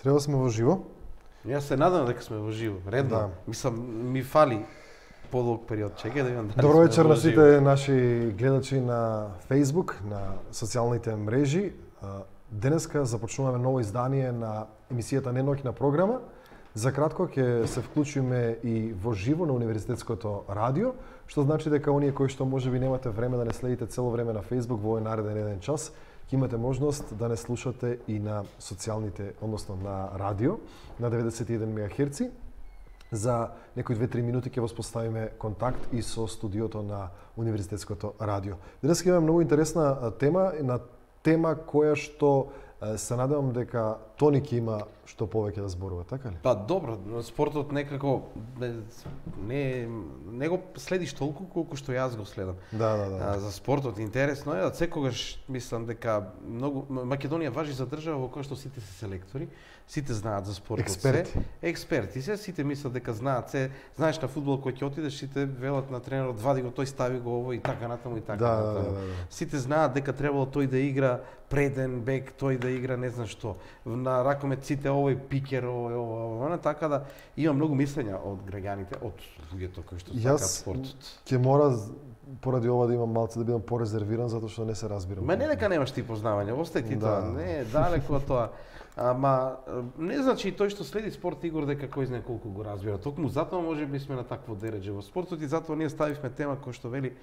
Треба сме во живо. Јас се надам дека сме во живо, редно. Да. Мислам, ми фали подолг период. Чекај да видам дали Добро сме вечер во на живо. сите наши гледачи на Facebook, на социјалните мрежи. Денеска започнуваме ново издание на емисијата Неноќна програма. За кратко ќе се вклучиме и во живо на Универзитетското радио, што значи дека оние кои што можеби немате време да не следите цело време на Facebook во овој нареден еден час, ќе имате можност да не слушате и на социјалните, односно на радио, на 91 МГц. За некои 2-3 минути ќе воспоставиме контакт и со студиото на Универзитетското радио. Денес имаме многу интересна тема, на тема која што се надевам дека Тони ќе има што повеќе да зборува, така ли? Па добро, спортот некако не го следиш толку колку што јас го следам. Да. За спортот интересно е, секогаш мислам дека многу Македонија важи за држава во која што сите се селектори, сите знаат за спортот, експерти се, сите мислат дека знаат се, знаеш на фудбал кој ќе отидеш, сите велат на тренерот вади го, тој стави го ово и така натаму и така натаму. Сите знаат дека требало тој да игра преден бек, тој да игра не знам што. На ракомет сите овој пикер, овој, така да има многу мислења од граѓаните, од луѓето кои што сакаат спортот. Јас ќе мора поради ова да имам малце да бидам порезервиран затоа што не се разбирам. Ма не дека немаш ти познавање, остај ти тоа, не, далеко од тоа. Ама не значи и тој што следи спорт Игор дека кој знае колку го разбира. Токму затоа можеби сме на такво дередже во спортот и затоа ние ставивме тема која што вели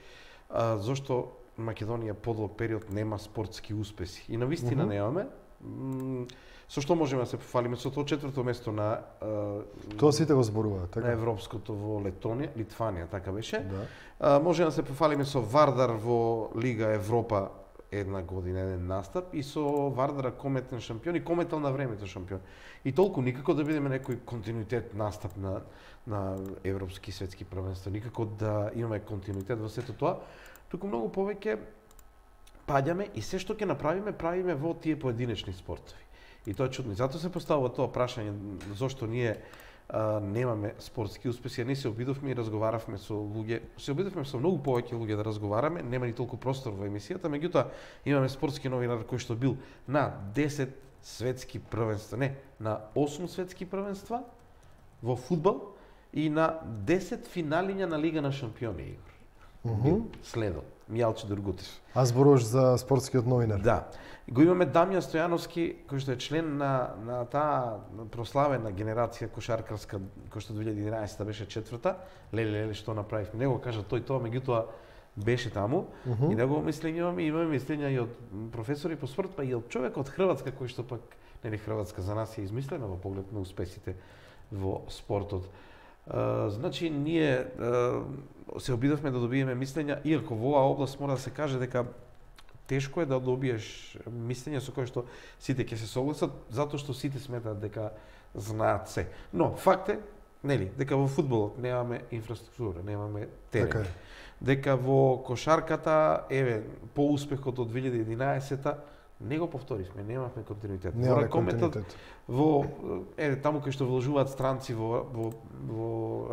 зошто Македонија подолг период нема спортски успеси. И навистина немаме. Со што можеме да се пофалиме? Со тоа четврто место на тоа сите го зборуваат, така? На европското во Литванија, така беше. Да. Можеме да се пофалиме со Вардар во Лига Европа една година, еден настап и со Вардар кометен шампион и кометал на времето шампион. И толку никако да видиме некој континуитет настап на европски и светски првенства, никако да имаме континуитет во сето тоа, туку многу повеќе паѓаме и се што ќе направиме, правиме во тие поединечни спортови. И тоа е чудно. И затоа се поставува тоа прашање зошто ние немаме спортски успеси. Ние се обидовме и разговаравме со луѓе. Се обидовме со многу повеќе луѓе да разговараме, нема ни толку простор во емисијата, меѓутоа имаме спортски новинар кој што бил на 10 светски првенства, не, на 8 светски првенства во фудбал и на 10 финалиња на Лига на шампиони, Игор. Следо, Мијалче Дургутев. А зборуваш за спортскиот новинар? Да. Го имаме Дамјан Стојановски, кој што е член на таа прославена генерација кошаркарска, кој што 2011 беше четврта. Леле, што направивме? Не го кажа тој тоа, меѓутоа беше таму. И негово мислење имаме мислења и од професори по спорт, па и од човек од Хрватска, кој што пак, нели Хрватска за нас е измислена во поглед на успесите во спортот. Значи, ние се обидовме да добиеме мислења, иако во оваа област мора да се каже дека тешко е да добиеш мислење со кое што сите ќе се согласат, затоа што сите сметаат дека знаат се. Но факт е, нели, дека во фудбалот немаме инфраструктура, немаме терен. Дека во кошарката, по успехот од 2011-та, не го повторивме, немавме континуитет. Немаме континуитет. Во таму кај што вложуваат странци во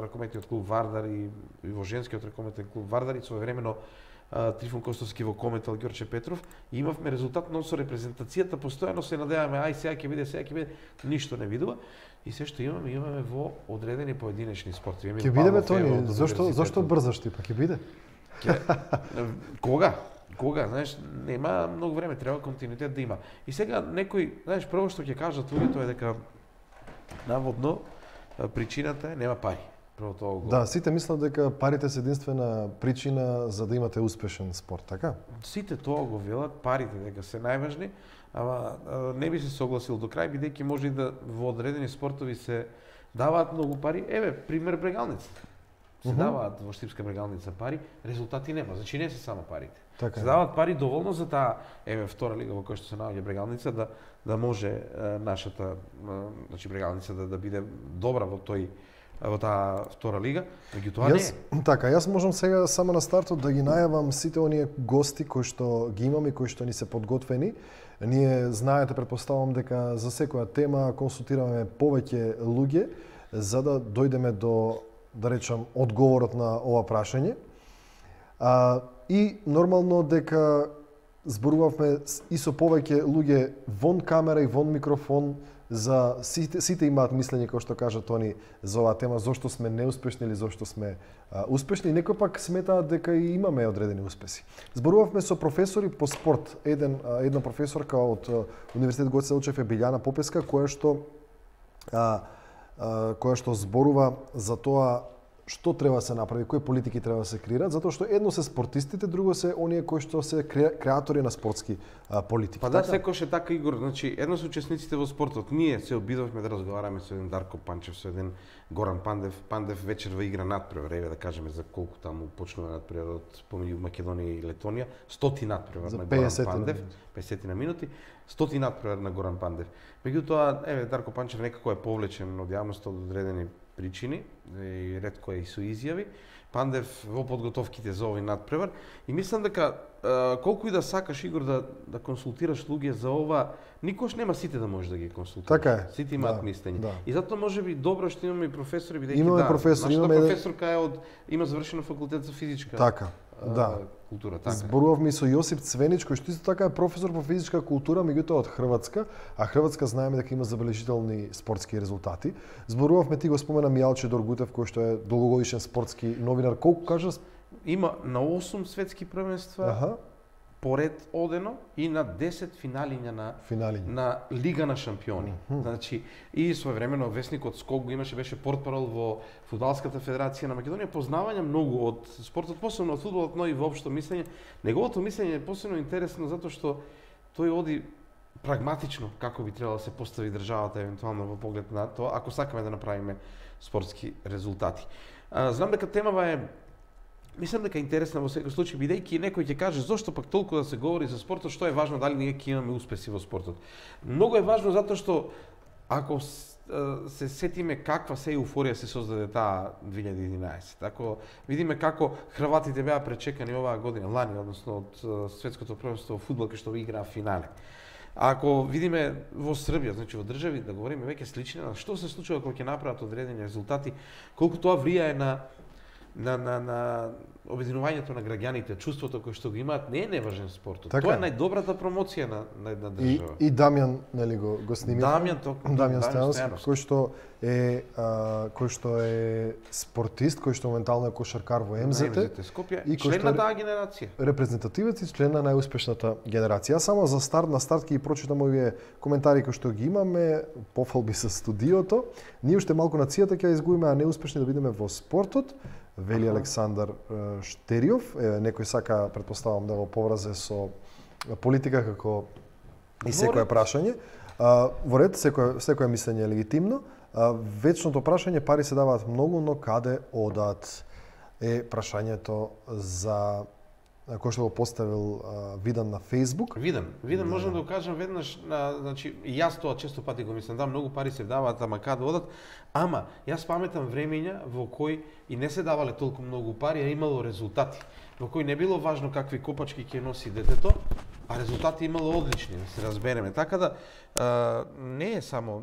ракометниот клуб Вардар и во женскиот ракометен клуб Вардар и своевремено Трифон Костовски во кометал Ѓорче Петров, и имавме резултат, но со репрезентацијата постојано се надеваме, сега ќе биде, ништо не видува. И се што имаме во одредени поединечни спортови. Ќе бидеме, Тони, зошто брзаш ти, па ќе биде? Кога, знаеш, нема многу време, треба континуитет да има. И сега некој, знаеш, прво што ќе кажат луѓето е дека наводно причината е нема пари. Да, сите мислат дека парите се единствена причина за да имате успешен спорт, така? Сите тоа го велат, парите дека се најважни, ама не би се согласил до крај, бидејќи може и да во одредени спортови се даваат многу пари. Пример брегалница. Се даваат во Штипска брегалница пари, резултати нема, значи не се само парите. Така. Се даваат пари доволно за таа втора лига во која што се наоѓа брегалница да може нашата значи брегалница да биде добра во таа втора лига, меѓутоа не. Така, јас можам сега само на стартот да ги најавам сите оние гости кои што ги имаме, кои што ни се подготвени. Ние знаете, претпоставам дека за секоја тема консултираме повеќе луѓе за да дојдеме до, да речам, одговорот на ова прашање. И нормално дека зборувавме и со повеќе луѓе вон камера и вон микрофон, за сите имаат мислење, како што кажа Тони, за оваа тема, зошто сме неуспешни или зошто сме успешни. Некои пак сметаат дека и имаме одредени успеси. Зборувавме со професори по спорт. Една професорка од Универзитет Гоце Делчев е Билјана Попеска, која што зборува за тоа што треба да се направи, кои политики треба да се креират, затоа што едно се спортистите, друго се оние кои што се креатори на спортски политики. Па да, секош е така, Игор, значи едно се учесниците во спортот. Ние се обидовме да разговараме со еден Дарко Панчев, со еден Горан Пандев. Пандев вечерва игра надпревар, еве да кажеме за колку таму почнува надпреварот помеѓу Македонија и Летонија, 100 надпревар на Горан Пандев, 50 на минути, 100 надпревар на Горан Пандев. Меѓутоа, еве Дарко Панчев некако е повлечен од јавноста од одредени причини, и ретко е и со изјави. Пандев во подготовките за овој надпревар и мислам дека колку и да сакаш, Игор, да консултираш луѓе за ова, никош нема сите да можеш да ги консултираш. Така е. Сите имаат мислење. Да. И затоа можеби добро што имаме и професори, бидејќи имаме професори, нашата професорка е има завршено факултет за физичка. Така. Да. Култура, така. Зборувавме со Јосип Цвенич, кој што исто така е професор по физичка култура, меѓутоа од Хрватска, а Хрватска знаеме дека има забележителни спортски резултати. Зборувавме, ти го спомена, Мијалче Доргутев, кој што е долгогодишен спортски новинар. Колку кажа? Има на 8 светски првенства. Поред одено и на 10 финалиња на Лига на шампиони. Значи, и своевремено весникот Скок го имаше, беше портпарол во Фудбалската федерација на Македонија, познавања многу од спортот, посебно од фудбалот, но и воопшто мислење. Неговото мислење е посебно интересно затоа што тој оди прагматично како би требало да се постави државата евентуално во поглед на тоа, ако сакаме да направиме спортски резултати. Знам дека темава е мислам дека е интересна во секој случај, бидејќи некој ќе каже зошто пак толку да се говори за спортот, што е важно дали ние ќе имаме успеси во спортот. Многу е важно затоа што ако се сетиме каква се еуфорија се создаде таа 2011. Ако видиме како хрватите беа пречекани оваа година, лани, односно од светското првенство во фудбал кај што играа финале. Ако видиме во Србија, значи во држави, да говориме веќе слични на што се случува кога ќе направат одредени резултати, колку тоа влијае на обединувањето на граѓаните, чувството кое што го имаат, не е неважен спортот. Така. Тоа е најдобрата промоција на држава. И Дамјан, нели го снимите? Дамјан Стојановски, кој што е спортист, кој што моментално е кошаркар во МЗТ, Скопје, и член на таа генерација. Репрезентативец и член на најуспешната генерација. Само за на старт ќе прочитам овие коментари кои што ги имаме, пофалби со студиото. Ние уште малку нацијата ќе изгубиме, а неуспешни да бидеме во спортот. Вели Александар Штериов, некој сака, предпоставам, да го повразе со политика како и секое прашање. Во ред, секое мислење е легитимно. Вечното прашање, пари се даваат многу, но каде одат е прашањето за кој што го поставил Видан на Facebook. Видан можам да го кажам веднаш, значи јас тоа често пати го мислам, да, многу пари се даваат, ама каде одат? Ама јас паметам времења во кои и не се давале толку многу пари, а имало резултати. Во кои не било важно какви копачки ќе носи детето, а резултати имало одлични, да се разбереме. Така да не е само,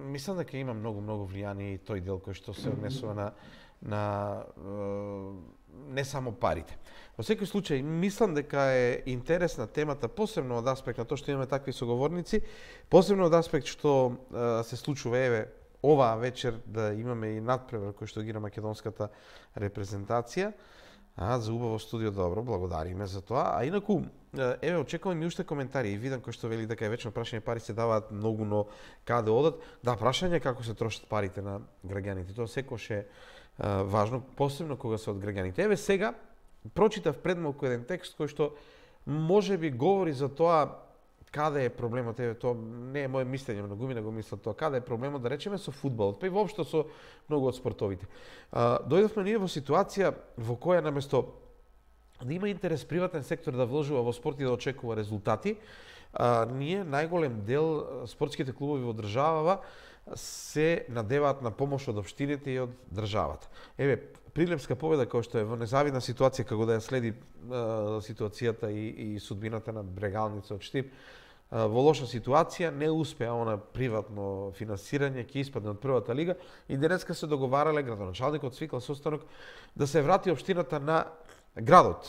мислам дека има многу влијание и тој дел кој што се однесува на не само парите. Во секој случај, мислам дека е интересна темата, посебно од аспект на тоа што имаме такви соговорници, посебно од аспект што се случува еве оваа вечер да имаме и надпревар кој што ги на македонската репрезентација. За убаво студио, добро, благодариме за тоа. А инаку, еве, очекувам и уште коментари. И видам кој што вели дека е вечно прашање, пари се даваат многу, но каде одат? Да, прашање како се трошат парите на граѓаните. Тоа секош е важно, посебно кога се од граѓаните. Еве сега, прочитав пред малку еден текст кој што можеби говори за тоа каде е проблемот, еве тоа не е моје мислење, многумина го мислат тоа, каде е проблемот, да речеме со фудбалот, па и воопшто со многу од спортовите. Дојдовме ние во ситуација во која наместо да има интерес приватен сектор да вложува во спорт и да очекува резултати, ние најголем дел спортските клубови во државава се надеваат на помош од општините и од државата. Еве, Прилепска победа, која што е во незавидна ситуација, како да ја следи ситуацијата и судбината на Брегалница од Штип, во лоша ситуација, не успеа она приватно финансирање, ќе испадне од првата лига и денеска се договарале, градоначалникот свикал состанок да се врати општината на Градот,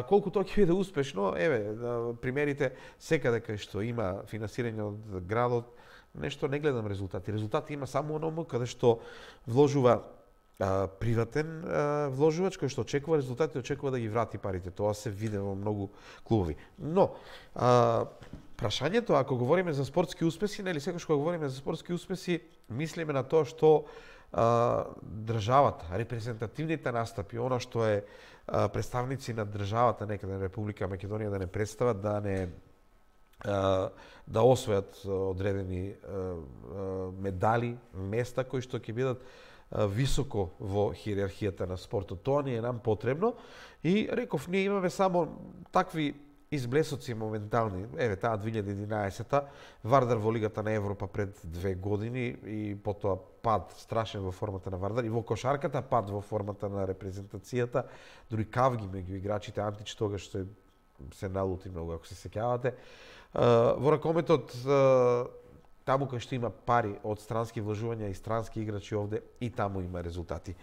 колку тоа ќе биде успешно, еве, примерите секаде кај што има финансирање од градот, нешто не гледам резултати. Резултати има само оному каде што вложува приватен вложувач кој што очекува резултати, очекува да ги врати парите. Тоа се види во многу клубови. Но прашањето, ако говориме за спортски успеси, нели секогаш кога говориме за спортски успеси, мислиме на тоа што државата, репрезентативните настапи, она што е представници на државата некаде на Република Македонија да не представат, да освојат одредени медали, места кои што ќе бидат високо во хиерархијата на спортот. Тоа ни е нам потребно и реков, ние имаме само такви изблесоци моментални. Еве таа 2011-та Вардар во Лигата на Европа пред 2 години и потоа пад страшен во формата на Вардар и во кошарката пад во формата на репрезентацијата, дури кавги меѓу играчите. Антич тогаш се налути многу, ако се сеќавате. Во ракометот таму кај што има пари од странски вложувања и странски играчи овде, и таму има резултати.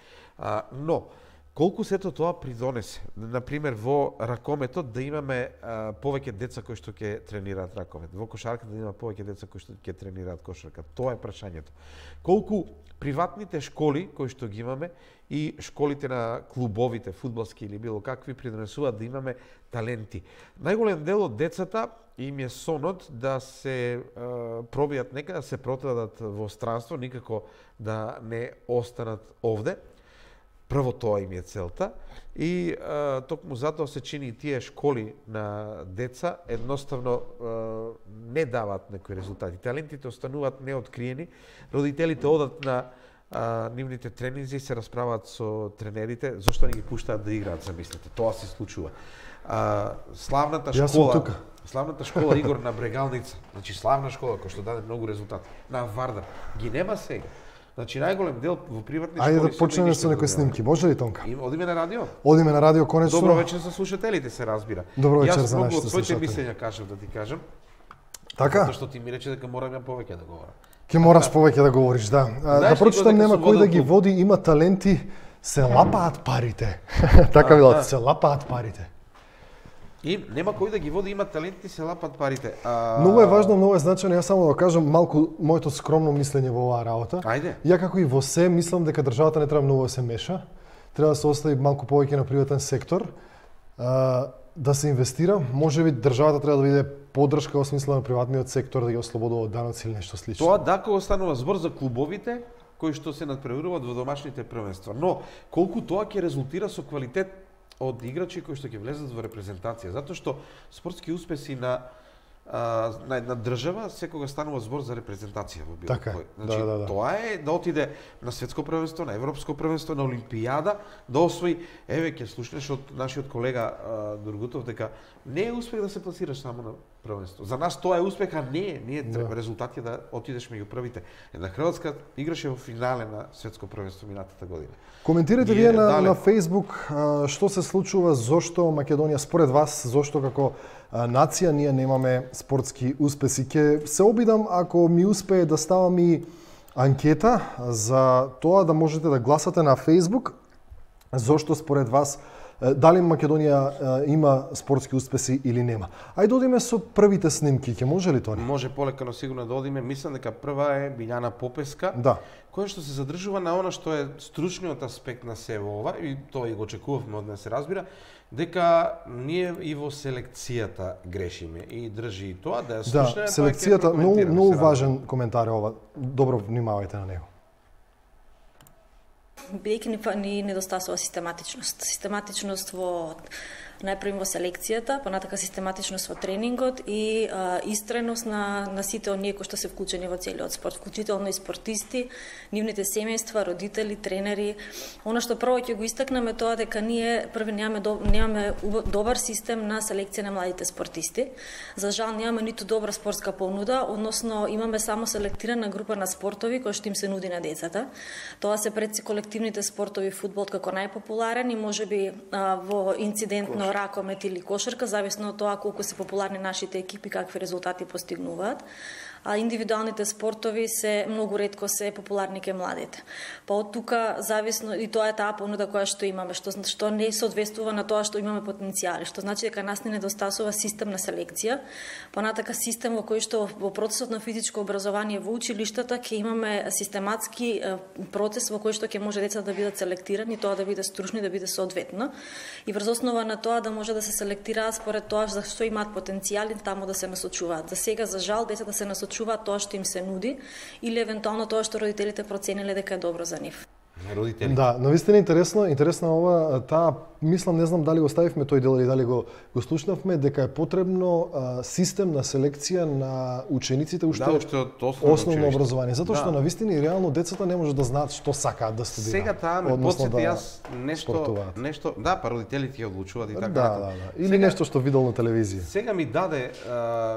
Но колку сето тоа придонесе, например во ракометот да имаме повеќе деца кои што ќе тренираат ракомет, во кошарката да има повеќе деца кои што ќе тренираат кошарка. Тоа е прашањето. Колку приватните школи кои што ги имаме и школите на клубовите, фудбалски или било какви, придонесуваат да имаме таленти. Најголем дел од децата им е сонот да се пробијат некаде, да се протадат во странство, никако да не останат овде. Прво тоа им е целта и токму затоа се чини и тие школи на деца едноставно не даваат некои резултати. Талентите остануваат неоткриени, родителите одат на нивните тренинзи и се расправаат со тренерите, зошто не ги пуштаат да играат, замислете. Тоа се случува. Славната школа Игор на Брегалница, значи славна школа која што даде многу резултати на Вардар, ги нема сега. Значи најголем дел во приватни школи. Ајде да почнеме со некои снимки, може ли, Тонка? Одиме на радио? Одиме на радио, конечно. Добро вечер за слушателите, се разбира. Добро вечер за нашите слушатели. Јас многу од своите мислења кажав, да ти кажам. Така? Затоа што ти ми рече дека морам ја повеќе да говорам. Ќе мораш повеќе да говориш, да. Да прочитам, нема кој да ги води, има таленти, се лапаат парите. Така било, се лапаат парите. И нема кој да ги води, има таленти, се лапат парите. Многу е важно, многу е значено, јас само да кажам малку моето скромно мислење во оваа работа. Ајде. Ја како и во се, мислам дека државата не треба многу да се меша. Треба да се остави малку повеќе на приватен сектор, да се инвестира. Можеби државата треба да биде поддршка во смисла на приватниот сектор, да ги ослободува од даноци или нешто слично. Тоа да, кога станува збор за клубовите кои што се надпреваруваат во домашните првенства, но колку тоа ќе резултира со квалитет од играчи кои што ќе влезат во репрезентација, затоа што спортски успеси на држава секогаш станува збор за репрезентација во било кој. Значи тоа е да отиде на светско првенство, на европско првенство, на олимпијада, да освои. Еве ќе слушнеш од нашиот колега Дургутов дека не е успех да се пласираш само на првенство. За нас тоа е успех, а не е резултати да отидеш меѓу првите. Една Хрватска играше во финале на светско првенство минатата година. Коментирате вие на Facebook што се случува, зошто Македонија според вас, зошто како нација ние немаме спортски успеси. Ќе се обидам, ако ми успее, да ставам и анкета за тоа да можете да гласате на Facebook зошто според вас дали Македонија има спортски успеси или нема. Ајде одиме со првите снимки, ќе може ли тоа? Може полека, но сигурно да одиме. Мислам дека прва е Билјана Попеска, која што се задржува на она што е стручниот аспект на сево ова, и тоа и го очекувавме од неа, се разбира, дека ние и во селекцијата грешиме и држи и тоа да ја слушне. Да, селекцијата многу важен коментар е ова. Добро внимавајте на него. Бидејќи ни недостасува систематичност. Систематичност во најпрво во селекцијата, понатака систематичност во тренингот и истреност на сите оние кои што се вклучени во целиот спорт, вклучително и спортисти, нивните семејства, родители, тренери. Она што прво ќе го истакнеме тоа дека ние први немаме добар систем на селекција на младите спортисти. За жал немаме ниту добра спортска понуда, односно имаме само селектирана група на спортови кои што им се нуди на децата. Тоа се предси колективните спортови, фудбал како најпопуларен и можеби во инцидентно ракомет или кошарка, зависно од тоа колку се популарни нашите екипи, какви резултати постигнуваат. а индивидуалните спортови се многу ретко се популарни кај младите. Па од тука зависно и тоа е таа понуда која што имаме, што не соодветствува на тоа што имаме потенцијали, што значи дека нас не недостасува систем на селекција, понатака систем во кој што во процесот на физичко образование во училиштата ќе имаме систематски процес во кој што ќе може децата да бидат селектирани, тоа да биде стручно и да биде соодветно, и врз основа на тоа да може да се селектираат според тоа за што имаат потенцијали таму да се насочуваат. За сега, за жал, децата се насочуваат тоа што им се нуди или евентуално тоа што родителите процениле дека е добро за нив. Родители. Да, навистина интересно ова, таа мислам, не знам дали го ставивме тој дел или дали го слушнавме, дека е потребно систем на селекција на учениците уште од основно образование, затоа што навистина и реално децата не можат да знаат што сакаат да студираат. Сега таа ме потсети јас нешто, да, па родителите ја одлучуваат и така. Да. Или сега, нешто што видел на телевизија. Сега ми даде,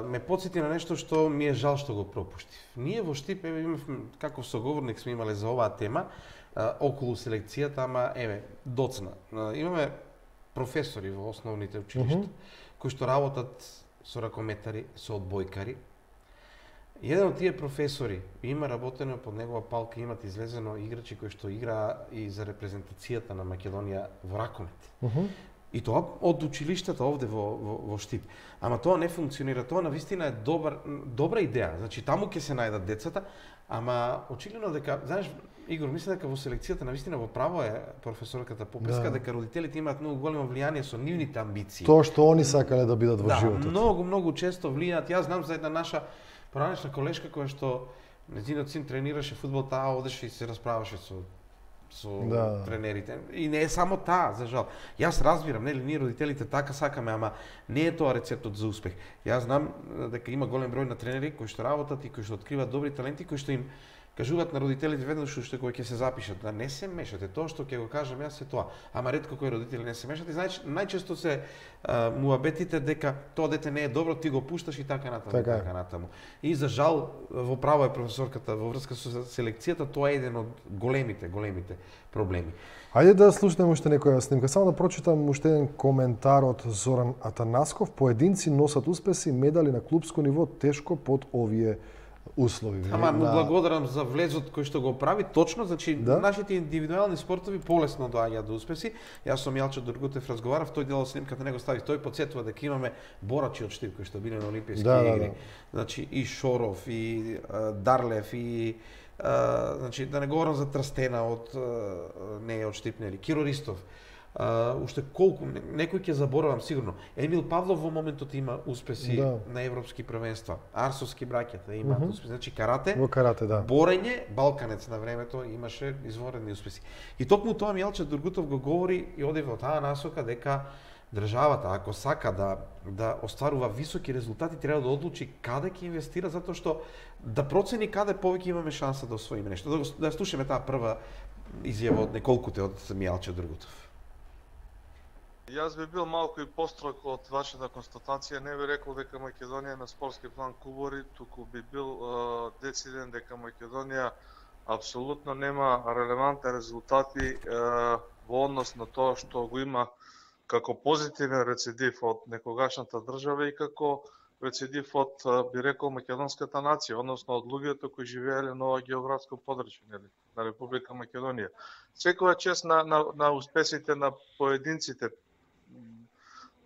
ме потсети на нешто што ми е жал што го пропуштив. Ние во Штип имавме, како соговорник сме имале за оваа тема, околу селекцијата, ама доцна. Имаме професори во основните училишта кои што работат со ракометари, со одбојкари. Еден од тие професори има работено под негова палка, имат излезено играчи кои што играа и за репрезентацијата на Македонија во ракомет. И тоа од училиштата овде во Штип. Ама тоа не функционира, тоа навистина е добра идеја. Значи таму ќе се најдат децата, ама очигледно дека, знаеш, Игор, мислам дека во селекцијата навистина во право е професорката Попеска, дека родителите имаат многу големо влијание со нивните амбиции. Тоа што они сакале да бидат во животот. Многу често влијаат. Јас знам за една наша поранешна колешка која што нејзиниот син тренираше фудбал, таа одеше и се расправаше со тренерите. И не е само таа, за жал. Јас разбирам, нели, ние родителите така сакаме, ама не е тоа рецептот за успех. Јас знам дека има голем број на тренери кои што работат и кои што откриваат добри таленти, кои што им кажуваат на родителите веднаш уште кога ќе се запишат, да не се мешате, тоа што ќе го кажам јас е тоа. Ама ретко кои родители не се мешат и знаеш, најчесто се муабетите дека тоа дете не е добро, ти го пушташ и така натаму. И за жал во право е професорката во врска со селекцијата, тоа е еден од големите проблеми. Ајде да слушнеме уште некоја снимка. Само да прочитам уште еден коментар од Зоран Атанасков. Поединци носат успеси, медали на клупско ниво, тешко под овие услови. Ама му благодарам за влезот кој што го прави, точно, значи нашите индивидуални спортови полесно доаѓаат до успеси. Јас со Мијалчо Дургутев разговарав, тој дел од снимката него стави, тој потсетува дека имаме борачи од Штип кои што биле на Олимписки игри. Значи и Шоров, и Дарлев, и значи да не говорам за Трстена од не од Штип, нели, Киро Ристов. Уште колку, некој ќе заборавам сигурно. Емил Павлов во моментот има успеси на европски првенства. Арсовски браќата имаат успеси. Значи карате, борење, балканец на времето имаше изворени успеси. И токму тоа Мијалчо Дургутов го говори и оди во таа насока дека државата, ако сака да остварува високи резултати, треба да одлучи каде ќе инвестира, затоа што да процени каде повеќе имаме шанса да освоиме нешто. Да слушаме таа прва изјава од неколкуте од Мијалчо Дургутов. Јас би бил малку и построг од вашата констатација, не би рекол дека Македонија на спортски план кубори, туку би бил дециден дека Македонија апсолутно нема релевантни резултати во однос на тоа што го има како позитивен рецидив од некогашната држава и како рецидив од, би рекол, македонската нација, односно од луѓето кои живееле на ова географско подрачје, на Република Македонија. Секоја чест на успесите на поединците,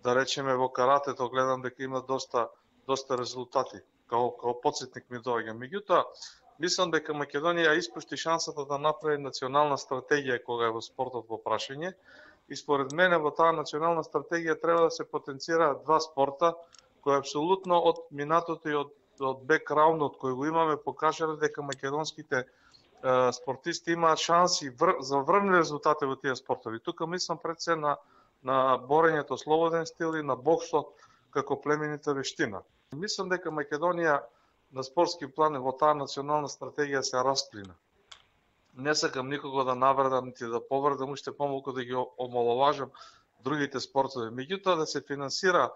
да речеме во каратето, гледам дека има доста резултати, као подсетник ми доаѓа. Меѓутоа, мислам дека Македонија испушти шансата да направи национална стратегија кога е во спортот во прашање и според мене во таа национална стратегија треба да се потенцираат два спорта кои апсолутно од минатото и од бекграундот кој го имаме покажале дека македонските спортисти имаат шанси за врвни резултати во тие спортови. Тука мислам пред се на борењето слободен стил и на боксот како племенита вештина. Мислам дека Македонија на спортски план во таа национална стратегија се расплина. Не сакам никого да навредам, нити да повредам, уште помалку да ги омаловажам другите спортови. Меѓутоа да се финансира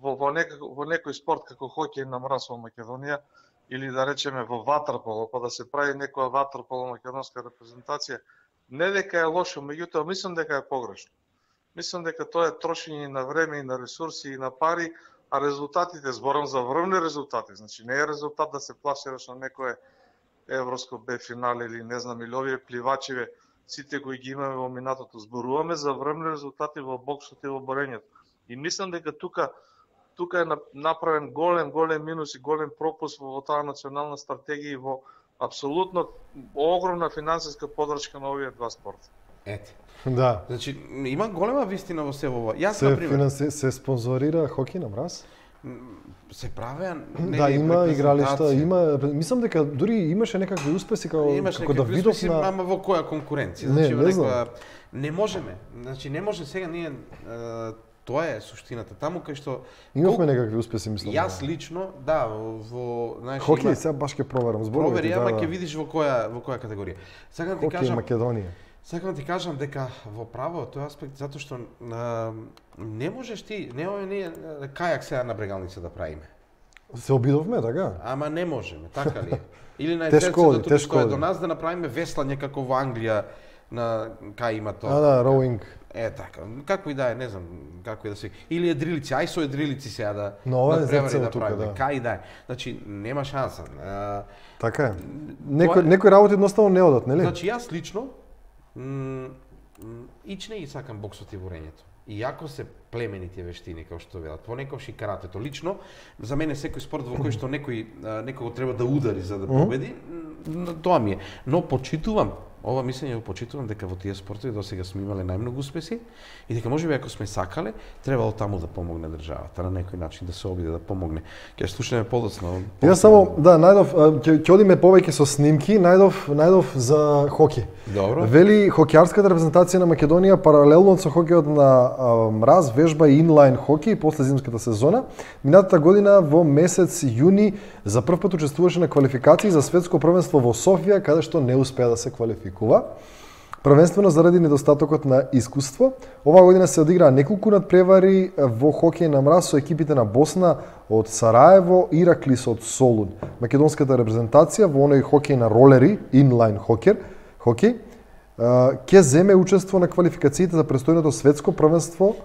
во некој спорт како хокеј на мраз во Македонија или да речеме во ватерполо, па да се прави некоја ватерполо македонска репрезентација, не дека е лошо, меѓутоа мислам дека е погрешно. Мислам дека тоа е трошење на време и на ресурси и на пари, а резултатите, зборам за врвни резултати, значи не е резултат да се пласираш на некое европско Б финале или не знам, или овие пливачиве, сите кои ги имаме во минатото. Зборуваме за врвни резултати во боксот и во борењето. И мислам дека тука е направен голем минус и голем пропуск во таа национална стратегија и во апсолутно огромна финансиска подршка на овие два спорта. Ете. Да. Значи, има голема вистина во себе ова. Јас, например, се спонзорира хоки на мраз? Се правеа да, има игралишта, има, мислам дека дури имаше некакви успеси како да видов на ама во која конкуренција, значи во некоја не можеме. Значи не може сега ние тоа е суштината. Таму кај што имавме некакви успеси, мислам. Јас лично, да, во знаеш, хоки, сега баш ќе проверам зборовите. Провери, ама ќе видиш во која категорија. Сега ти кажам Македонија. Сакам да ти кажам дека во право тој аспект, затоа што не можеш ти, не кајак сега на брегалница да правиме. Се обидовме, така? Ама не можеме, така ли е? Или на езерцето што е до нас да направиме веслање како во Англија, на кај има тоа. Да, роуинг. Така, како и да е, не знам, како и да се. Или едрилици, ај со едрилици сега да да правиме, кај да е. Значи нема шанса. Така е. Некои работи едноставно не одат, нели? Значи јас лично ичне и сакам боксот и борењето. Иако се племени тие вештини, како што велат, понекогаш и каратето. Лично, за мене секој спорт во кој што некој треба да удари за да победи, тоа ми е. Но почитувам, ова мислење го почитувам дека во тие спортови досега сме имале најмногу успеси и дека можеби ако сме сакале, требало таму да помогне државата на некој начин да се обиде да помогне. Ќе слушаме подоцна. Јас само најдов ќе одиме повеќе со снимки, најдов за хоки. Добро. Вели хокеарската репрезентација на Македонија паралелно со хокеот на мраз вежба и инлайн хоки после зимската сезона. Минатата година во месец јуни за прв пат учествуваше на квалификации за светско првенство во Софија, каде што не успеа да се квалификува. Првенствено заради недостатокот на искуство. Оваа година се одиграа неколку надпревари во хокеј на мраз со екипите на Босна од Сараево, Ираклис од Солун. Македонската репрезентација во оној хокеј на ролери, инлайн хокеј, ќе земе учество на квалификациите за престојното светско првенство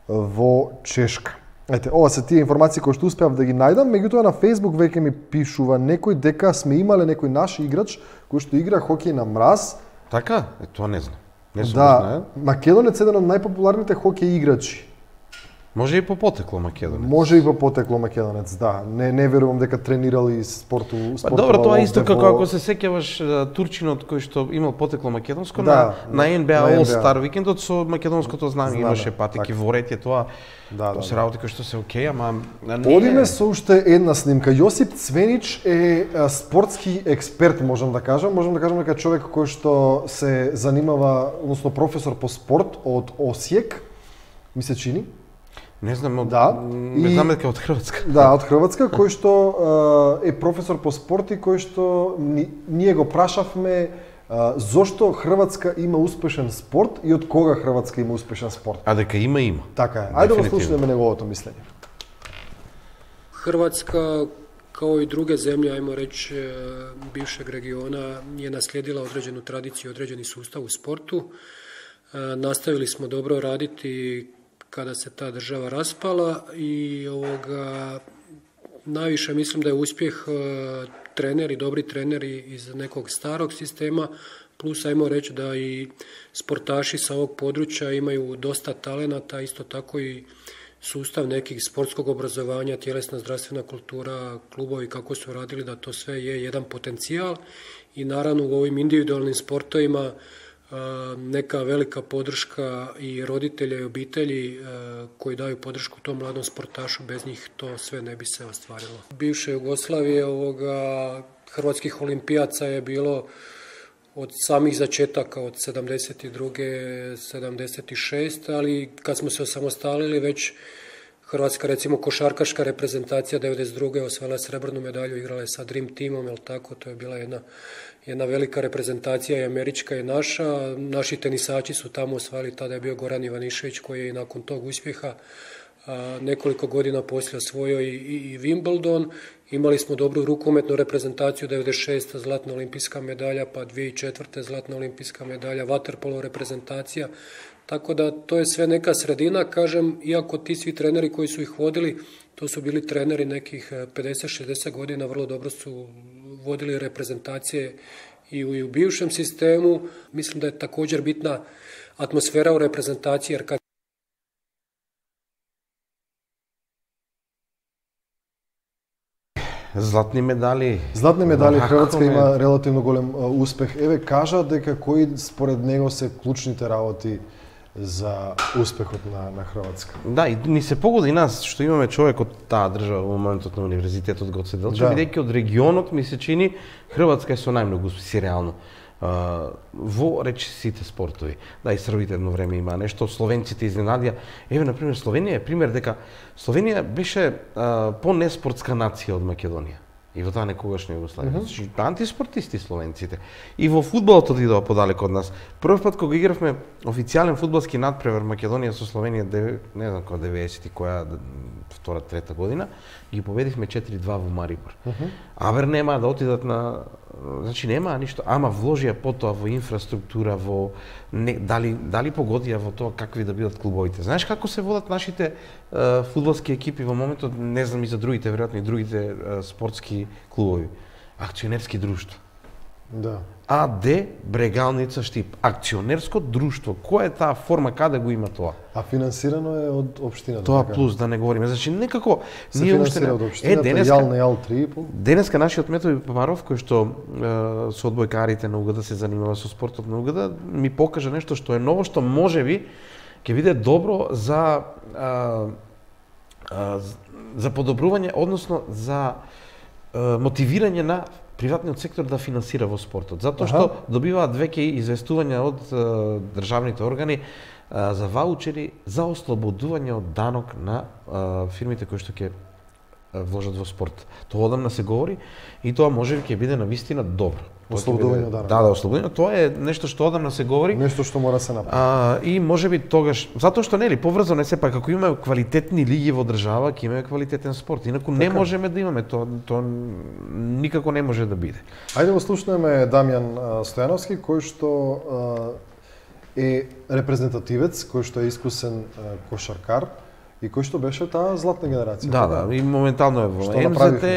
во Чешка. Ете, ова се тие информации кои што успеав да ги најдам, меѓутоа на Facebook веќе ми пишува некој дека сме имале некој наш играч кој што игра хокеј на мраз. Така? Тоа не знам. Не сум да, македонец е еден од најпопуларните хокеј играчи. Може и по потекло македонец. Може и по потекло македонец, да. Не верувам дека тренирал и спорту. Добро, тоа исто како ако се сеќаваш турчинот кој што имал потекло македонско на NBA All Star викендот со македонското знание имаше патеки во ред тоа. Тоа се работи кои што се окей, ама одиме со уште една снимка. Јосип Цвенич е спортски експерт, можам да кажам. Можам да кажам дека човек кој што се занимава, односно професор по спорт од Осијек, ми се чини. Не знам, не знам дека од Хрватска. Да, од Хрватска, кој што е професор по спорт и кој што ние го прашавме зошто Хрватска има успешен спорт и од кога Хрватска има успешен спорт. А дека има. Така е. Ајде да го слушаме неговото мислење. Хрватска, као и друге земје, ајмо реći, бившeg региона, je naslijedila određenu tradiciju, određeni sustav u sportu. Nastavili smo dobro raditi kada se ta država raspala i najviše mislim da je uspjeh treneri, dobri treneri iz nekog starog sistema, plus ajmo reći da i sportaši sa ovog područja imaju dosta talenata, isto tako i sustav nekih sportskog obrazovanja, tjelesna zdravstvena kultura, klubovi kako su radili, da to sve je jedan potencijal i naravno u ovim individualnim sportovima neka velika podrška i roditelja i obitelji koji daju podršku tom mladom sportašu, bez njih to sve ne bi se ostvarilo. Bivše Jugoslavije hrvatskih olimpijaca je bilo od samih začetaka, od 72. 76. ali kad smo se osamostalili već Hrvatska, recimo, košarkaška reprezentacija 92. osvojila srebrnu medalju, igrala je sa Dream Teamom, jel tako, to je bila jedna velika reprezentacija i američka i naša. Naši tenisači su tamo osvojili, tada je bio Goran Ivanišević koji je i nakon tog uspjeha nekoliko godina poslije osvojio i Wimbledon. Imali smo dobru rukometnu reprezentaciju, 96. zlatna olimpijska medalja, pa 2004. zlatna olimpijska medalja, vaterpolo reprezentacija. Tako da to je sve neka sredina, kažem, iako ti svi treneri koji su ih vodili, to su bili treneri nekih 50-60 godina, vrlo dobro su vodili reprezentacije i u bivšem sistemu. Mislim da je također bitna atmosfera u reprezentaciji, jer kad Златни медали. Златни медали, Хрватска има релативно голем успех. Еве, кажа дека кои според него се клучните работи за успехот на Хрватска. Да, и ни се погоди нас што имаме човек од таа држава во моментот на универзитетот Гоце Делчев, бидејќи од регионот ми се чини Хрватска е со најмногу успеси реално во речи сите спортови. Да, и србите едно време има нешто, словенците изненадија. Еве, например, Словенија е пример дека Словенија беше по-неспортска нација од Македонија. И во таа некогашна Југославија. Значи, антиспортисти словенците. И во фудбалот одидоа подалеку од нас. Прв пат кога игравме официјален фудбалски надпревар Македонија со Словенија, не знам која 90-ти, која втора, трета година, ги победивме 4-2 во Марибор. Абер нема да отидат на, значи нема ништо, ама вложија потоа во инфраструктура, во дали погодија во тоа какви да бидат клубовите. Знаеш како се водат нашите фудбалски екипи во моментот, не знам и за другите, веројатно и другите спортски клубови. Акционерски друштва. Да. АД Брегалница Штип. Акционерско друштво. Која е таа форма, каде го има тоа? А финансирано е од општината. Тоа плюс, да не говориме. Значи, некако се финансира од општината, јал на јал 3,5. Денеска нашиот Методи Папаров, кој што со одбојкарите на УГД се занимава со спортот на УГД, ми покажа нешто што е ново, што можеби ќе биде добро за подобрување, односно за мотивирање на приватниот сектор да финансира во спортот. Затоа што добиваат веќе известувања од државните органи за ваучери за ослободување од данок на фирмите кои што ќе вложат во спорт. Тоа одамна се говори и тоа можеби ќе биде навистина добро. Ослободување од данок. Да, ослободување. Тоа е нешто што одамна се говори. Нешто што мора се направи. И можеби тогаш, затоа што нели поврзано е сепак, ако имаме квалитетни лиги во држава, ќе имаме квалитетен спорт. Инаку не можеме да имаме тоа никако не може да биде. Ајде го слушнеме Дамјан Стојановски, кој што е репрезентативец, кој што е искусен кошаркар и кој што беше таа златна генерација. Да, и моментално е во МЗТ,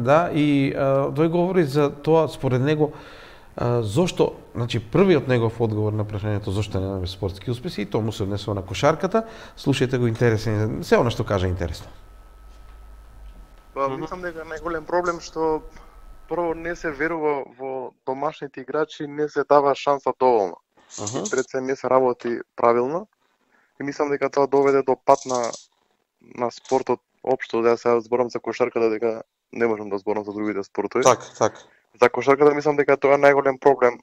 да, и тој говори за тоа според него зошто, значи првиот негов одговор на прашањето зошто немаме спортски успеси, и тоа му се однесува на кошарката. Слушајте го, интересен, се она што кажа интересно. Па мислам дека најголем проблем што прво не се верува во домашните играчи, не се дава шанса доволно. Пред се не се работи правилно. И мислам дека тоа доведе до пат на спортот општо, да се зборам за кошарката, дека не можам да зборам за другите спортови. Так. За кошарката мислам дека тоа е најголем проблем.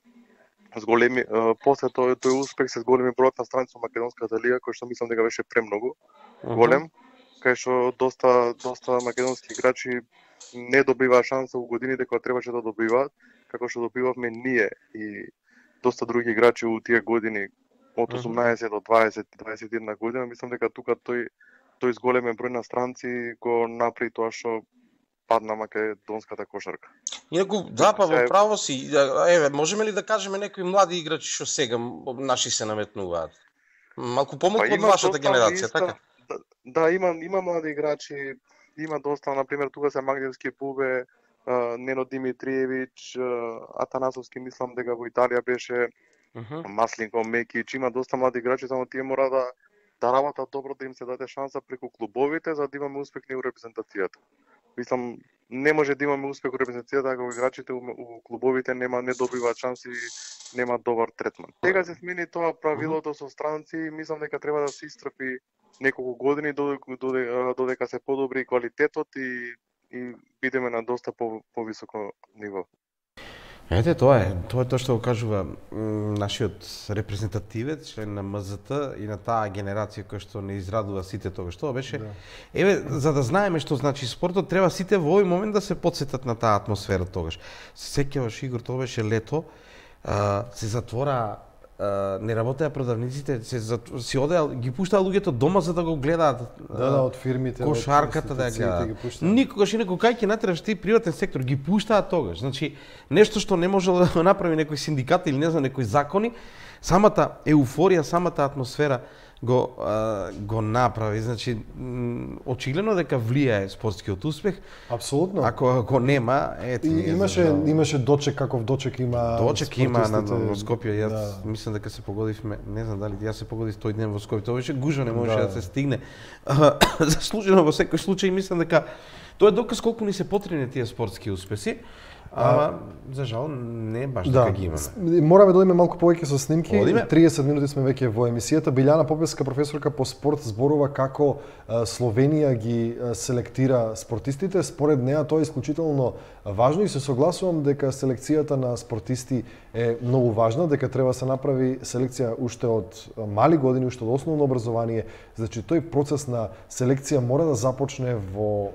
С големи после тој успех се големи бројот на страници во македонската лига, кој што мислам дека беше премногу голем, кај што доста македонски играчи не добиваа шанса во годините кога требаше да добиваат, како што добивавме ние и доста други играчи во тие години од 18 до 20-21 година. Мислам дека тука тој зголемен број на странци го направи тоа што падна македонската кошарка. Инаку, да, па во право си. Еве, можеме ли да кажеме некои млади играчи што сега наши се наметнуваат? Малку помалку од вашата генерација, така? Да, има млади играчи, има доста, например, тука се Магдевски Бубе, Нено Димитриевич, Атанасовски, мислам дека во Италија беше, Маслинко, Мекич, има доста млади играчи, само тие мора да работат добро, да им се даде шанса преку клубовите, за да имаме успех на репрезентацијата. Мислам, не може да имаме успех во репрезентацијата ако играчите у клубовите не добиваат шанси, нема добар третман. Сега се смени тоа правилото со странци, мислам дека треба да се истрпи неколку години додека се подобри квалитетот и бидеме на доста повисоко ниво. Ете, тоа е тоа што го кажува нашиот репрезентативец, член на МЗТ и на таа генерација која што не израдува сите тогаш. Тоа беше, еве, за да знаеме што значи спортот, треба сите во овој момент да се потсетат на таа атмосфера тогаш. Се сеќаваш, Игор, тоа беше лето, се затвора, не работеа продавниците, си одеа, ги пуштаа луѓето дома за да го гледаат. Да, од фирмите, кошарката да ја гледаат. Никогаш и некој кај ќе натераш ти приватен сектор, ги пуштаат тогаш. Значи, нешто што не може да направи некој синдикат или не знам некои закони, самата еуфорија, самата атмосфера го направи. Значи, очигледно дека влијае спортскиот успех. Апсолутно. Ако нема, имаше дочек, каков дочек има. Дочек има во Скопје. Јас мислам дека се погодивме, не знам дали јас се погодив тој ден во Скопје. Тоа беше гужва, не можеше да се стигне. Заслужено во секој случај, мислам дека тоа е доказ колку ни се потребни тие спортски успеси. За жал не баш така ги имаме. Мораме да одиме малку повеќе со снимки. 30 минути сме веќе во емисијата. Билјана Попевска, професорка по спорт, зборува како Словенија ги селектира спортистите. Според неа тоа е исклучително важно и се согласувам дека селекцијата на спортисти е многу важна, дека треба да се направи селекција уште од мали години, уште од основно образование. Значи тој процес на селекција мора да започне во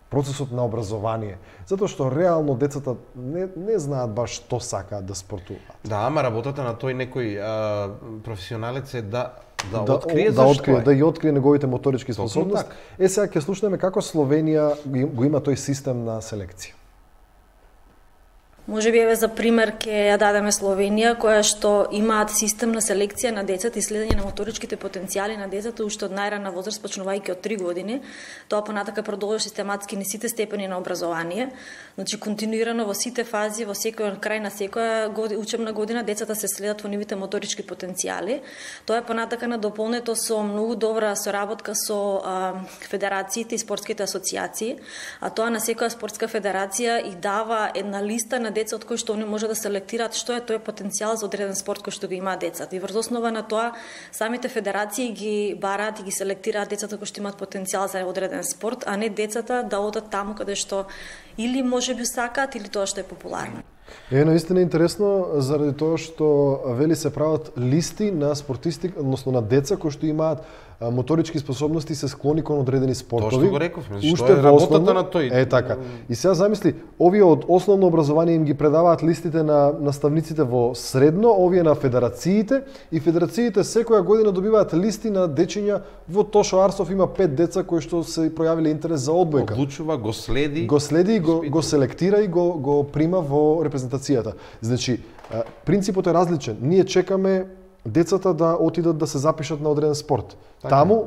процесот на образование, затоа што реално децата не знаат баш што сакаат да спортуваат. Да, ама работата на тој некој професионалец е да открие зашто да ги открие неговите моторички способности. Сега ќе слушнеме како Словенија го има тој систем на селекција. Може би за пример ќе ја дадеме Словенија, која што имаат систем на селекција на децата и следење на моторичките потенцијали на децата уште од најрана возраст, почнувајќи од 3 години. Тоа понатака продолжува систематски на сите степени на образование. Значи континуирано во сите фази, во секој крај на секоја учебна година децата се следат во нивите моторички потенцијали. Тоа е понатака надополнето со многу добра соработка со федерациите и спортските асоциации, а тоа на секоја спортска федерација и дава една листа на деца од кои што они може да селектираат што е тој потенцијал за одреден спорт кој што го имаат децата. И врз основа на тоа самите федерации ги бараат и ги селектираат децата кои што имаат потенцијал за одреден спорт, а не децата да одат таму каде што или можеби сакаат или тоа што е популарно. Наистина интересно заради тоа што вели се прават листи на спортисти, односно на деца кои што имаат моторички способности се склони кон одредени спортови. Тоа што го рековме, што е работата на тој. Така. И сега замисли, овие од основно образование им ги предаваат листите на наставниците во средно, овие на федерациите и федерациите секоја година добиваат листи на дечиња. Во Тошо Арсов има 5 деца кои што се пројавиле интерес за одбојка. Одлучува, го следи и го селектира и го прима во репрезентацијата. Значи, принципот е различен. Ние чекаме децата да отидат да се запишат на одреден спорт. Така. Таму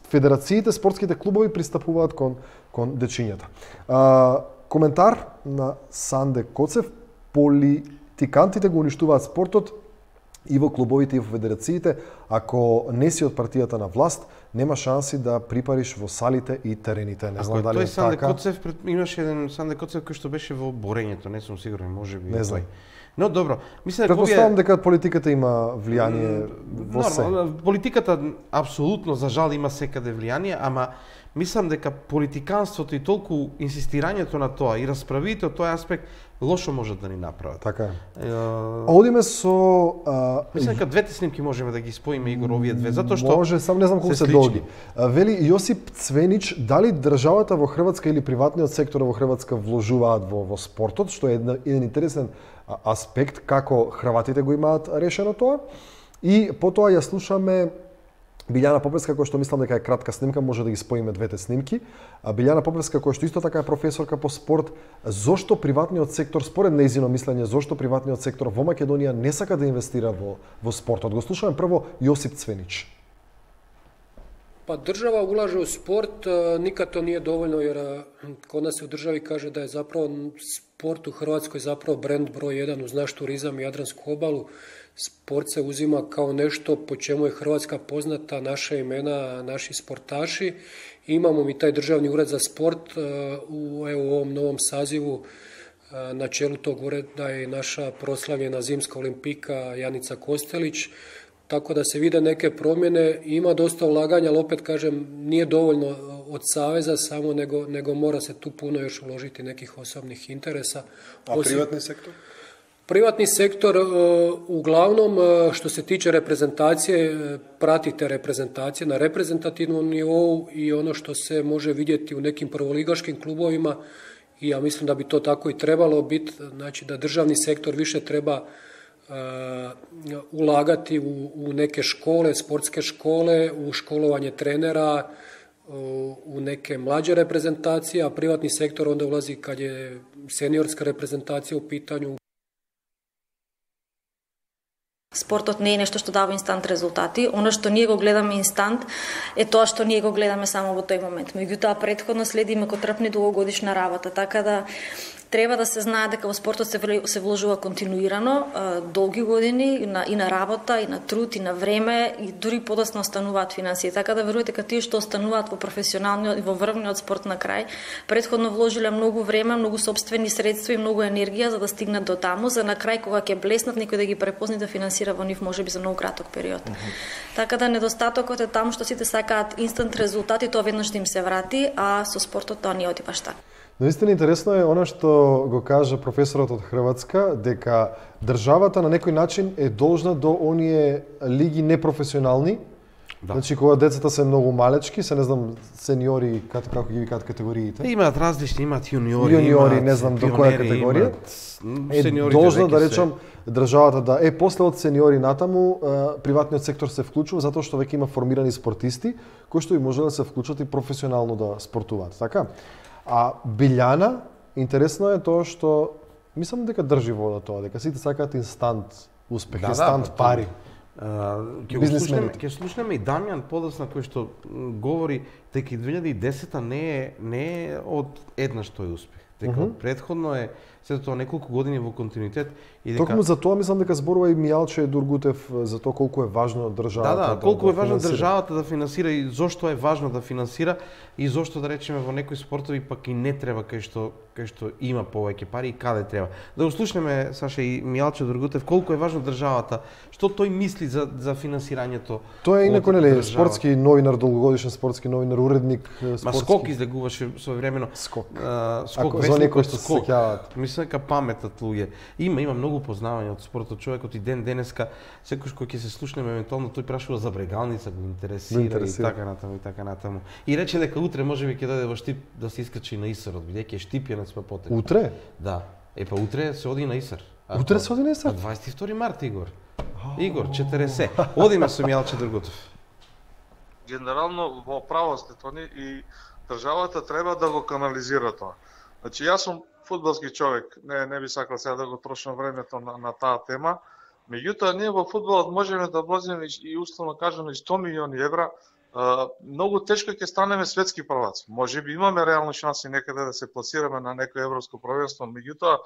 федерациите, спортските клубови пристапуваат кон дечињата. Коментар на Санде Коцев: политикантите го уништуваат спортот и во клубовите и во федерациите. Ако не си од партијата на власт, нема шанси да припариш во салите и терените. Не знам дали е така. Санде Коцев, имаше еден Санде Коцев кој што беше во борењето, не сум сигурен, можеби не знам. Но добро, мислам дека претпоставам дека политиката има влијание во се. Политиката апсолутно за жал има секаде влијание, ама мислам дека политиканството и толку инсистирањето на тоа и расправите од тој аспект лошо можат да ни направат. Така е. Одиме со мислам дека двете снимки можеме да ги споиме, Игор, овие две, затоа што може, сам не знам колку се долги. Вели Јосип Цвенич, дали државата во Хрватска или приватниот сектор во Хрватска вложуваат во спортот, што е еден интересен аспект како хрватите го имаат решено тоа. И потоа ја слушаме Билјана Попевска, која што мислам дека е кратка снимка, може да ги споиме двете снимки. Билјана Попевска, која што исто така е професорка по спорт, зошто приватниот сектор, според нејзино мислење, зошто приватниот сектор во Македонија не сака да инвестира во спортот? Го слушаме прво Јосип Цвенич. Па држава улаже у спорт, никад то nije dovoljno, jer kod nas se u državi kaže da je zapravo sport u Hrvatskoj zapravo brend broj 1 uz naš turizam i Jadransku obalu. Sport se uzima kao nešto po čemu je Hrvatska poznata, naša imena, naši sportaši. Imamo mi taj državni ured za sport u ovom novom sazivu. Na čelu tog ureda je naša proslavljena zimska olimpika Janica Kostelić. Tako da se vide neke promjene, ima dosta ulaganja, ali opet kažem, nije dovoljno od saveza samo, nego mora se tu puno još uložiti nekih osobnih interesa. A privatni sektor? Privatni sektor, uglavnom, što se tiče reprezentacije, pratite reprezentacije na reprezentativnom nivou i ono što se može vidjeti u nekim prvoligaškim klubovima, i ja mislim da bi to tako i trebalo biti, znači da državni sektor više treba ulagati u neke škole, sportske škole, u školovanje trenera, u neke mlađe reprezentacije, a privatni sektor onda ulazi kad je seniorska reprezentacija u pitanju. Спортот не е нешто што дава инстант резултати. Она што ние го гледаме инстант е тоа што ние го гледаме само во тој момент. Меѓутоа претходно следиме котрпни долгогодишна работа, така да треба да се знае дека во спортот се вложува континуирано, долги години и на работа, и на труд, и на време, и дури подоцна остануваат финансии. Така да верувате дека тие што остануваат во професионалниот и во врвниот спорт на крај, претходно вложиле многу време, многу сопствени средства и многу енергија за да стигнат до таму, за на крај кога ќе блеснат некој да ги препозна да финансира во нив можеби за многу краток период. Така да недостатокот е таму што сите сакаат инстант резултати, тоа веднаш им се врати, а со спортот тоа не оди баш така. Наистина интересно е она што го кажа професорот од Хрватска, дека државата на некој начин е должна до оние лиги непрофесионални. Да. Значи кога децата се многу малечки, се не знам сениори како ги викаат категориите. Имаат различни, имаат јуниори, имаат не знам до која категорија. Е должна да речам државата да после од сениори натаму приватниот сектор се вклучува затоа што веќе има формирани спортисти кои што и може да се вклучат и професионално да спортуваат, така? А Билјана, интересно е тоа што мислам дека држи вода тоа, дека сите сакаат инстант успех, инстант пари. Ќе слушнеме и Дамјан подоцна кој што говори дека 2010-та не е од еднаш тој успех. Дека претходно е сето тоа неколку години во континуитет и дека токму за тоа мислам дека зборува и Мијалче Дургутев за тоа колку е важно државата. Да, колку е важно државата да финансира и зошто е важно да финансира и зошто да речеме во некои спортови пак и не треба кај што има повеќе пари и каде треба. Да го слушнеме Саша и Мијалче Дургутев колку е важно државата, што тој мисли за финансирањето. Тоа е инаку нели спортски новинар, долгогодишен спортски новинар, уредник спортски. Ма Скок излегуваше своевремено. Скок. Скок за некои што се сеќаваат. Мислам дека паметат луѓе. Има многу познавање од спортот, човекот и денеска секој кој ќе се слушнеме евентуално тој прашува за брегалница, го интересира и така натаму. И рече дека утре можеби ќе дојде во Штип да се искачи на Исарот, бидејќи е Штипјанец па потек. Утре? Да. Па утре се оди на Исар. Утре се оди на Исар? 22 март, Игор. Игор, 40. Одиме со Мијалче Дургутев. Генерално во право сте Тони и државата треба да го канализира тоа. Значи јас сум фудбалски човек, не би сакал сега да го трошам времето на таа тема. Меѓутоа ние во фудбалот можеме да влеземе и условно кажано и 100 милиони евра. Многу тешко ќе станеме светски прваци. Можеби имаме реални шанси некаде да се пласираме на некој европско првенство, меѓутоа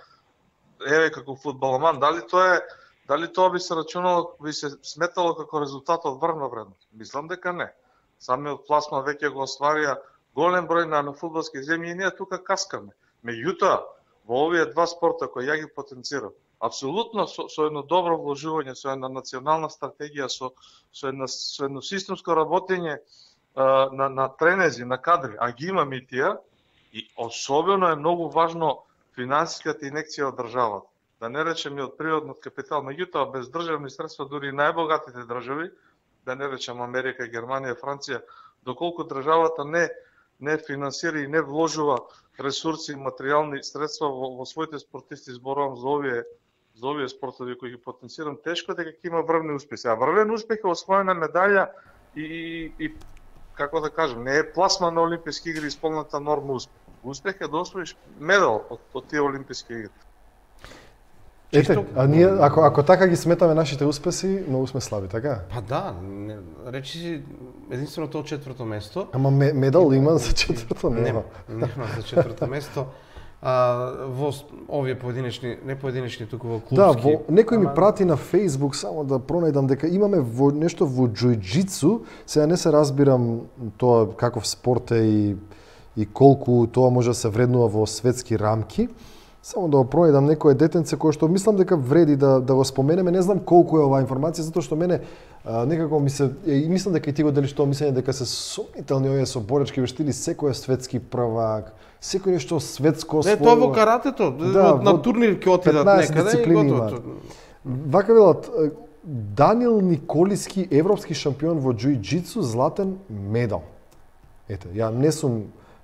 еве како фудбаломан, дали тоа би се рачунало, би се сметало како резултат од врвна вредност? Мислам дека не. Самиот пласман веќе го остварија голем број на фудбалски земји и ние тука каскаме. Меѓутоа, во овие два спорта кои ја ги потенцирам, апсолутно со едно добро вложување, со една национална стратегија, со едно системско работење на тренези, на кадри, а ги имаме и тие, и особено е многу важно финансиската инекција од државата. Да не речем и од природниот капитал, меѓутоа без државни средства дури и најбогатите држави, да не речем Америка, Германија, Франција, доколку државата не финансира и не вложува ресурси и материјални средства во своите спортисти, зборувам за овие спортови кои ги потенцирам, тешко дека ќе има врвни успеси. А врвен успех е освоена медаља и како да кажем, не е пласма на Олимписки игри исполната норма успех. Успех е да освоиш медал од тие Олимписки игри. Ете, а ние ако така ги сметаме нашите успеси, многу сме слаби, така? Па да, речи си единствено тоа четврто место. Ама медал има за четврто? Нема за четврто место. Во овие не поединечни туку во клубски. Да, некој ми прати на Facebook само да пронајдам дека имаме нешто во џуџицу, сега не се разбирам тоа каков спорт е и колку тоа може да се вреднува во светски рамки. Само да го пронајдам некое детенце кое што мислам дека вреди да го споменеме, не знам колку е оваа информација, затоа што мене некако мислам дека и ти го делиш тоа мислење дека се сомнителни овие со боречки вештини, секој е светски првак, секој нешто светско освојува. Не, тоа во каратето, на турнир ќе отидат некаде и готово. Вака велат, Данил Николиски, европски шампион во џуџицу, златен медал. Ете, ја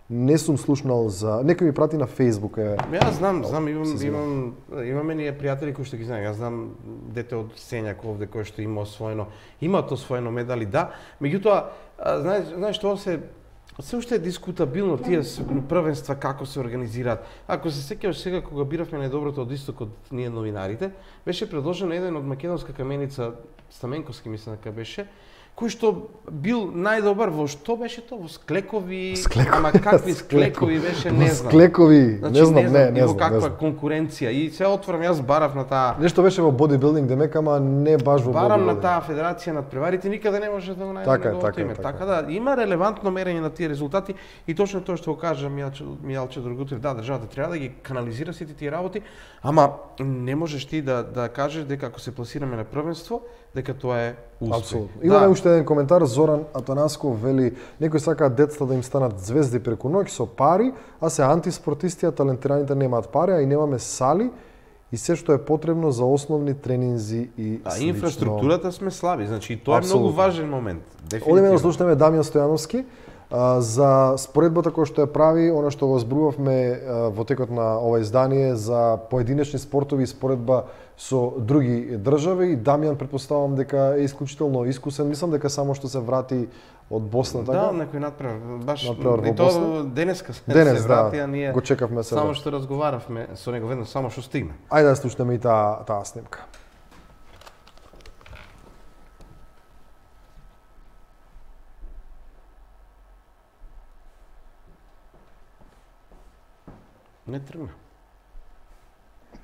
не сум слушнал за... Некој ми прати на Facebook. Јас знам, имаме ние пријатели кои што ги знаем. Јас знам дете од Сењак овде кој што имаат освоено медали, да. Меѓутоа, знаеш што се се уште е дискутабилно тие првенства како се организираат. Ако се сеќаваш сега кога биравме најдоброто од истокот ние новинарите, беше предложен еден од македонска каменица, Стаменковски мислам дека беше, кој што бил најдобар во што беше тоа? Во склекови, ама какви склекови беше, не знам. Склекови, значи, не знам. Во каква конкуренција и се отворам, јас барав на таа. Нешто беше во бодибилдинг демек, ама не баш во барам на таа федерација над преварите, никаде не може да го најде неговото име. Така да има релевантно мерење на тие резултати и точно тоа што го кажа Мијалче Драгутев, да, државата треба да ги канализира сите тие работи, ама не можеш ти да кажеш дека ако се пласираме на првенство, дека тоа е успех. Апсолутно. Имаме уште еден коментар, Зоран Атанасков вели, некои сакаат децата да им станат звезди преку ноќ со пари, а се антиспортисти, а талентираните немаат пари, а и немаме сали и се што е потребно за основни тренинзи и слично. А инфраструктурата сме слаби, значи тоа е многу важен момент. Одиме да слушнеме Дамјан Стојановски за споредбата која што ја прави, она што го зборувавме во текот на ова издание за поединечни спортови и споредба со други држави. И Дамјан претпоставам дека е исклучително искусен. Мислам дека само што се врати од Босна, така? Да, некој надпревар. Баш и тоа денеска се врати, а ние го чекавме се. Само што разговаравме со него веднаш, само што стигна. Ајде да слушнеме и таа снимка. Не тргна.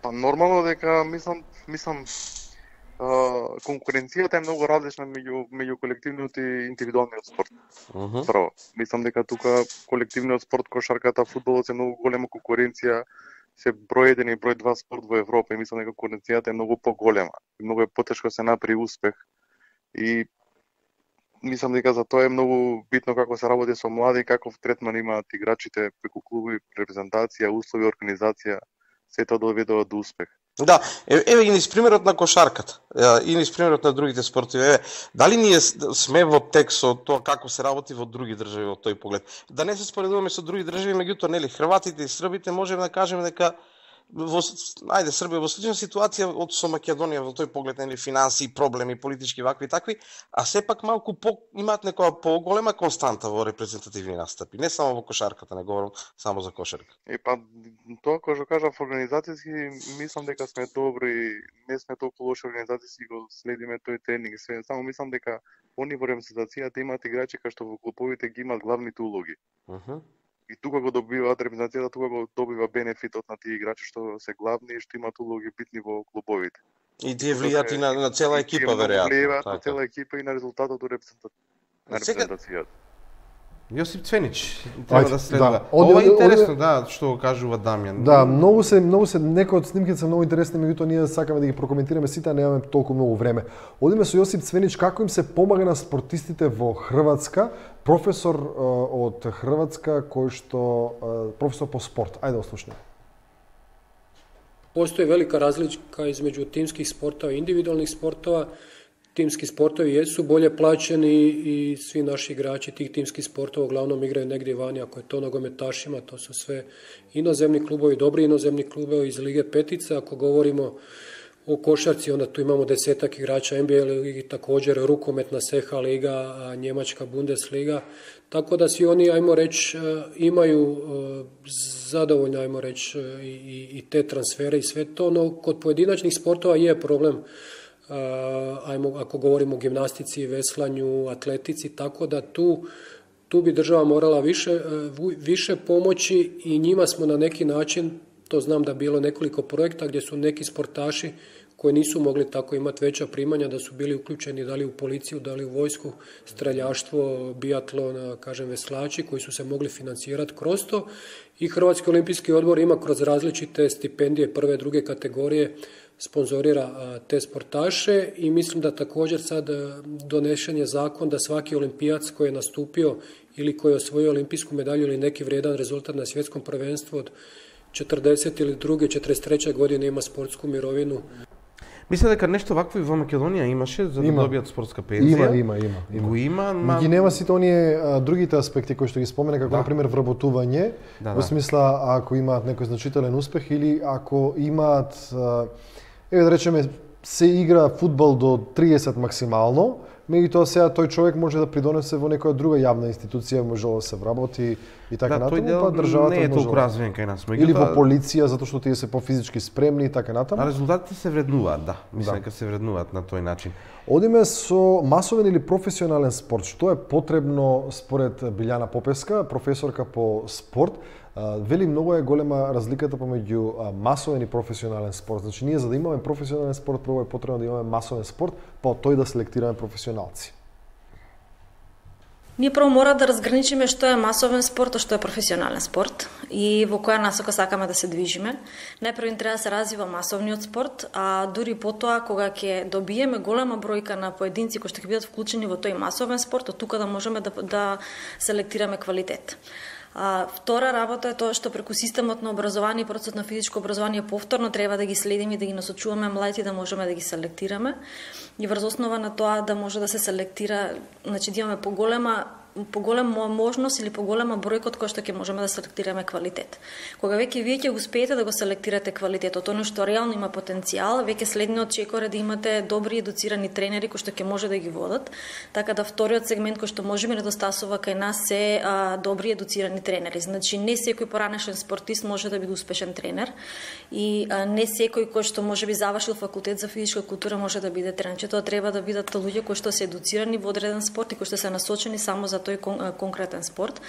Па нормално дека мислам конкуренцијата е многу различна меѓу колективниот и индивидуалниот спорт. Право. Мислам дека тука колективниот спорт, кошарката, фудбалот е многу голема конкуренција, се број 1 и број 2 спорт во Европа и мислам дека конкуренцијата е многу поголема. Многу е потешко се направи успех. И мислам дека за тоа е многу битно како се работи со млади, каков третман имаат играчите преку клубови, репрезентација, услови, организација, се тоа доведува до успех. Да, еве и низ примерот на кошарката, и низ примерот на другите спортови. Еве, дали ние сме во тек со тоа како се работи во други држави во тој поглед? Да не се споредуваме со други држави, меѓутоа нели хрватите и србите можеме да кажеме дека Србија во слична ситуација од со Македонија во тој поглед, нели, финанси, проблеми, политички вакви и такви, а сепак малку имаат некоја поголема константа во репрезентативни настапи, не само во кошарката, не говорам само за кошарка. Па тоа кој што кажав организацијски, мислам дека сме добри, не сме толку лоши организацијски, го следиме тој тренинг, само мислам дека они во репрезентацијата имаат играчи кои што во клубовите ги имаат главните улоги. И тука го добиваат репрезентацијата, тука го добива бенефитот на тие играчи што се главни и што имаат улоги битни во клубовите. И тие влијаат и на цела екипа, веројатно. Влијаат на цела екипа и на резултатот од репрезентацијата. Јосип Цвенич треба да следва. Ова е интересно, да, што го кажува Дамјан. Да, многу се некои од снимките се многу интересни, меѓутоа ние сакаме да ги прокоментираме сите, а немаме толку многу време. Одиме со Јосип Цвенич, како им се помага на спортистите во Хрватска, професор од Хрватска кој што професор по спорт. Ајде да слушнеме. Постои велика разлика измеѓу тимских спортова и индивидуалних спортова. Timski sportovi jesu bolje plaćeni i svi naši igrači tih timskih sportova uglavnom igraju negdje vani, ako je to nogometašima, to su sve inozemni klubovi, dobri inozemni klubovi iz Lige Petica. Ako govorimo o košarci, onda tu imamo 10-ak igrača NBA ligi, također rukometna Seha liga, Njemačka Bundesliga, tako da svi oni, ajmo reći, imaju zadovoljno, ajmo reći, i te transfere i sve to, no kod pojedinačnih sportova je problem. Ako govorimo o gimnastici, veslanju, atletici, tako da tu bi država morala više pomoći i njima smo na neki način, to znam da je bilo nekoliko projekta gdje su neki sportaši koji nisu mogli tako imati veća primanja, da su bili uključeni da li u policiju, da li u vojsku, streljaštvo, biatlon, kažem veslači koji su se mogli financirati kroz to i Hrvatski olimpijski odbor ima kroz različite stipendije prve, druge kategorije sponzorira te sportaše i mislim da također sad donešen je zakon da svaki olimpijac koji je nastupio ili koji je osvojio olimpijsku medalju ili neki vrijedan rezultat na svjetskom prvenstvu od 40 ili druge, 43. godine ima sportsku mirovinu. Мисля дека нешто вакво и во Македонија имаше за да добијат спортска пензија. Има. Но ги нема сите оние другите аспекти кои што ги спомена, како например вработување, во смисла ако имаат некој значителен успех или ако имаат, еве да речеме, се игра фудбал до 30 максимално, меѓутоа сега тој човек може да придонесе во некоја друга јавна институција, може да се вработи и така да, натаму, па државата не е може толку развиен кај нас. Или во полиција, затоа што тие се пофизички спремни и така натаму. А резултатите се вреднуваат, да. Мислам дека се вреднуваат на тој начин. Одиме со масовен или професионален спорт. Што е потребно според Билјана Попеска, професорка по спорт? Вели многу е голема разликата помеѓу масовен и професионален спорт. Значи ние за да имаме професионален спорт, прво е потребно да имаме масовен спорт, па од тој да селектираме професионалци. Ние прво мора да разграничиме што е масовен спорт, а што е професионален спорт и во која насока сакаме да се движиме. Најпрво треба да се развива масовниот спорт, а дури потоа кога ќе добиеме голема бројка на поединци кои што ќе бидат вклучени во тој масовен спорт, од тука да можеме да селектираме квалитет. Втора работа е тоа што преку системот на образование и процесот на физичко образование повторно треба да ги следиме и да ги насочуваме младите да можеме да ги селектираме и врз основа на тоа да може да се селектира, значи да имаме поголема можност или поголема бројка од која што ќе можеме да селектираме квалитет. Кога веќе вие ќе успеете да го селектирате квалитетот, оно што реално има потенцијал, веќе следниот чекор е да имате добри едуцирани тренери кои што ќе може да ги водат, така да вториот сегмент кој што можеме недостасува кај нас се добри едуцирани тренери. Значи не секој поранешен спортист може да биде успешен тренер и не секој кој што можеби завршил факултет за физичка култура може да биде тренер. Тоа треба да бидат луѓе кои што се едуцирани во одреден спорт и кои што се насочени само за тој конкретен спорт.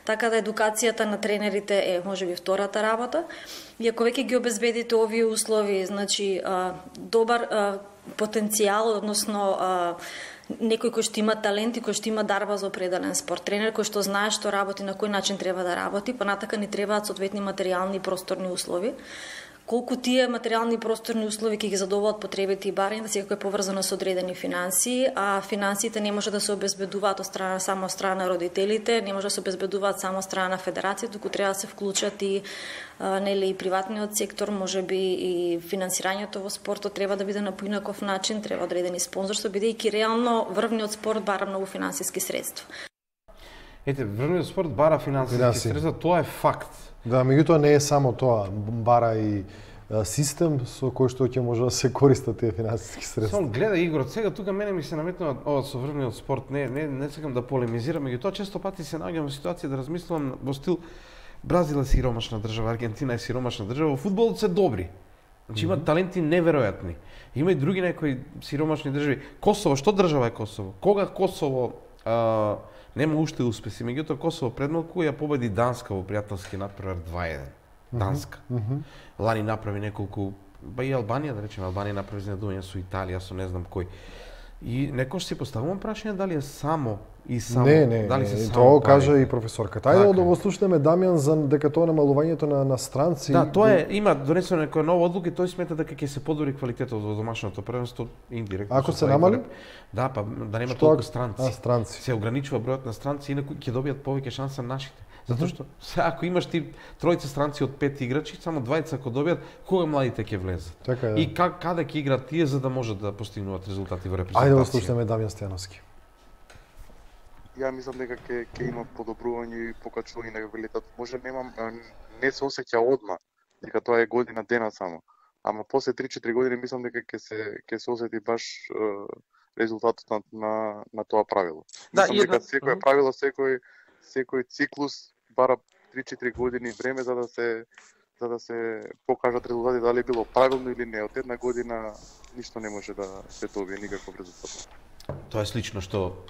Така да едукацијата на тренерите е можеби втората работа. И ако веќе ги обезбедите овие услови, значи добар потенцијал, односно некој кој што има талент и кој што има дарба за определен спорт, тренер кој што знае што работи, на кој начин треба да работи, понатака ни требаат соодветни материјални и просторни услови. Колку тие материјални и просторни услови ќе ги задоволат потребите и барањата, секако е поврзано со одредени финансии, а финансиите не може да се обезбедуваат само од страна на родителите, не може да се обезбедуваат само од страна на федерацијата, туку треба да се вклучат и и приватниот сектор, можеби и финансирањето во спортот треба да биде на поинаков начин, треба одредени спонзорство, бидејќи реално врвниот спорт бара многу финансиски средства. Ете, врвниот спорт бара финансиски средства, тоа е факт. Да, меѓутоа не е само тоа, бара и систем со кој што ќе може да се користат тие финансиски средства. Само гледа Игор, сега тука мене ми се наметнува ова со врвниот спорт, не сакам да полемизирам, меѓутоа често пати се наоѓам во ситуација да размислувам во стил Бразил е сиромашна држава, Аргентина е сиромашна држава, во фудбалот се добри. Значи имаат таленти неверојатни. Има и други некои сиромашни држави. Косово, што држава е Косово? Кога Косово нема уште успеси, меѓутоа Косово пред малку ја победи Данска во пријателски надпревар 2-1. Данска. Лани направи неколку, ба и Албанија, да речеме, Албанија направи изненадување со Италија, со не знам кој. И некош си поставувам прашање дали е само и само, дали се само тоа кажа и професорката. Ајде да го слушнеме Дамјан за дека тоа намалувањето на странци. Да, тоа е, има донесено некоја нова одлука и тој смета дека ќе се подобри квалитетот во домашното првенство индиректно. Ако се намали? Да, па да нема толку странци. Странци. Се ограничува бројот на странци, инаку ќе добијат повеќе шанса нашите. Затоа што ако имаш ти тројца странци од 5 играчи, само двајца ако добијат, кога младите ќе влезат? Така е. И каде ќе играат тие за да можат да постигнуваат резултати во репрезентација? Ајде да слушнеме Дамјан Стојановски. Ја мислам дека ќе има подобрување и покачување на квалитет. Може не се осеќа одма, дека тоа е година дена само. Ама после 3-4 години мислам дека ќе се осети баш резултатот на тоа правило. Да, мислам дека секое правило, секој циклус бара 3-4 години време за да се покажат резултати, дали било правилно или не. Од една година ништо не може да се добие, никаков резултат. Тоа е слично што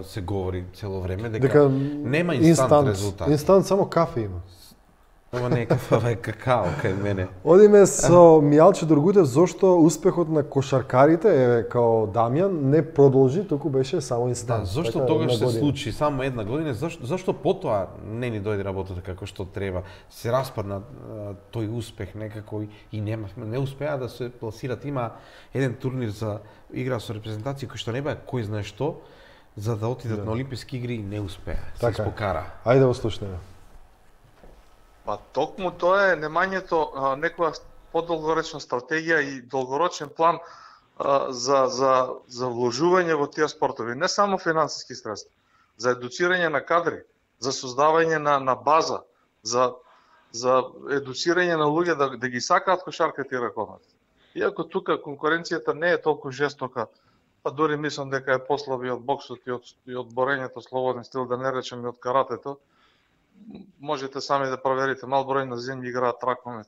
се говори цело време, дека нема инстант резултат. Инстант само кафе има. Ова не е кафе, ова е какао кај мене. Одиме со Мијалче Дургутев, зошто успехот на кошаркарите, као Дамјан, не продолжи, туку беше само инстант. Да, зошто тогаш се случи само една година, зашто потоа не ни дојде работата како што треба, се распадна тој успех некако и не успеа да се пласират. Има еден турнир за игра со репрезентација кој што не беа кој знае што, за да отидат на Олимписки игри и не успеа. Се испокара. Ајде да го слушнеме. Па токму тоа е немањето некоја подолгорочна стратегија и долгорочен план за вложување во тие спортови, не само финансиски средства, за едуцирање на кадри, за создавање на база, за едуцирање на луѓе да ги сакаат кошарката и ракомет. Иако тука конкуренцијата не е толку жестока па дури мислам дека е послаби од боксот и од борењето слободен стил, да не речем и од каратето. Можете сами да проверите, мал број на земји играат ракомет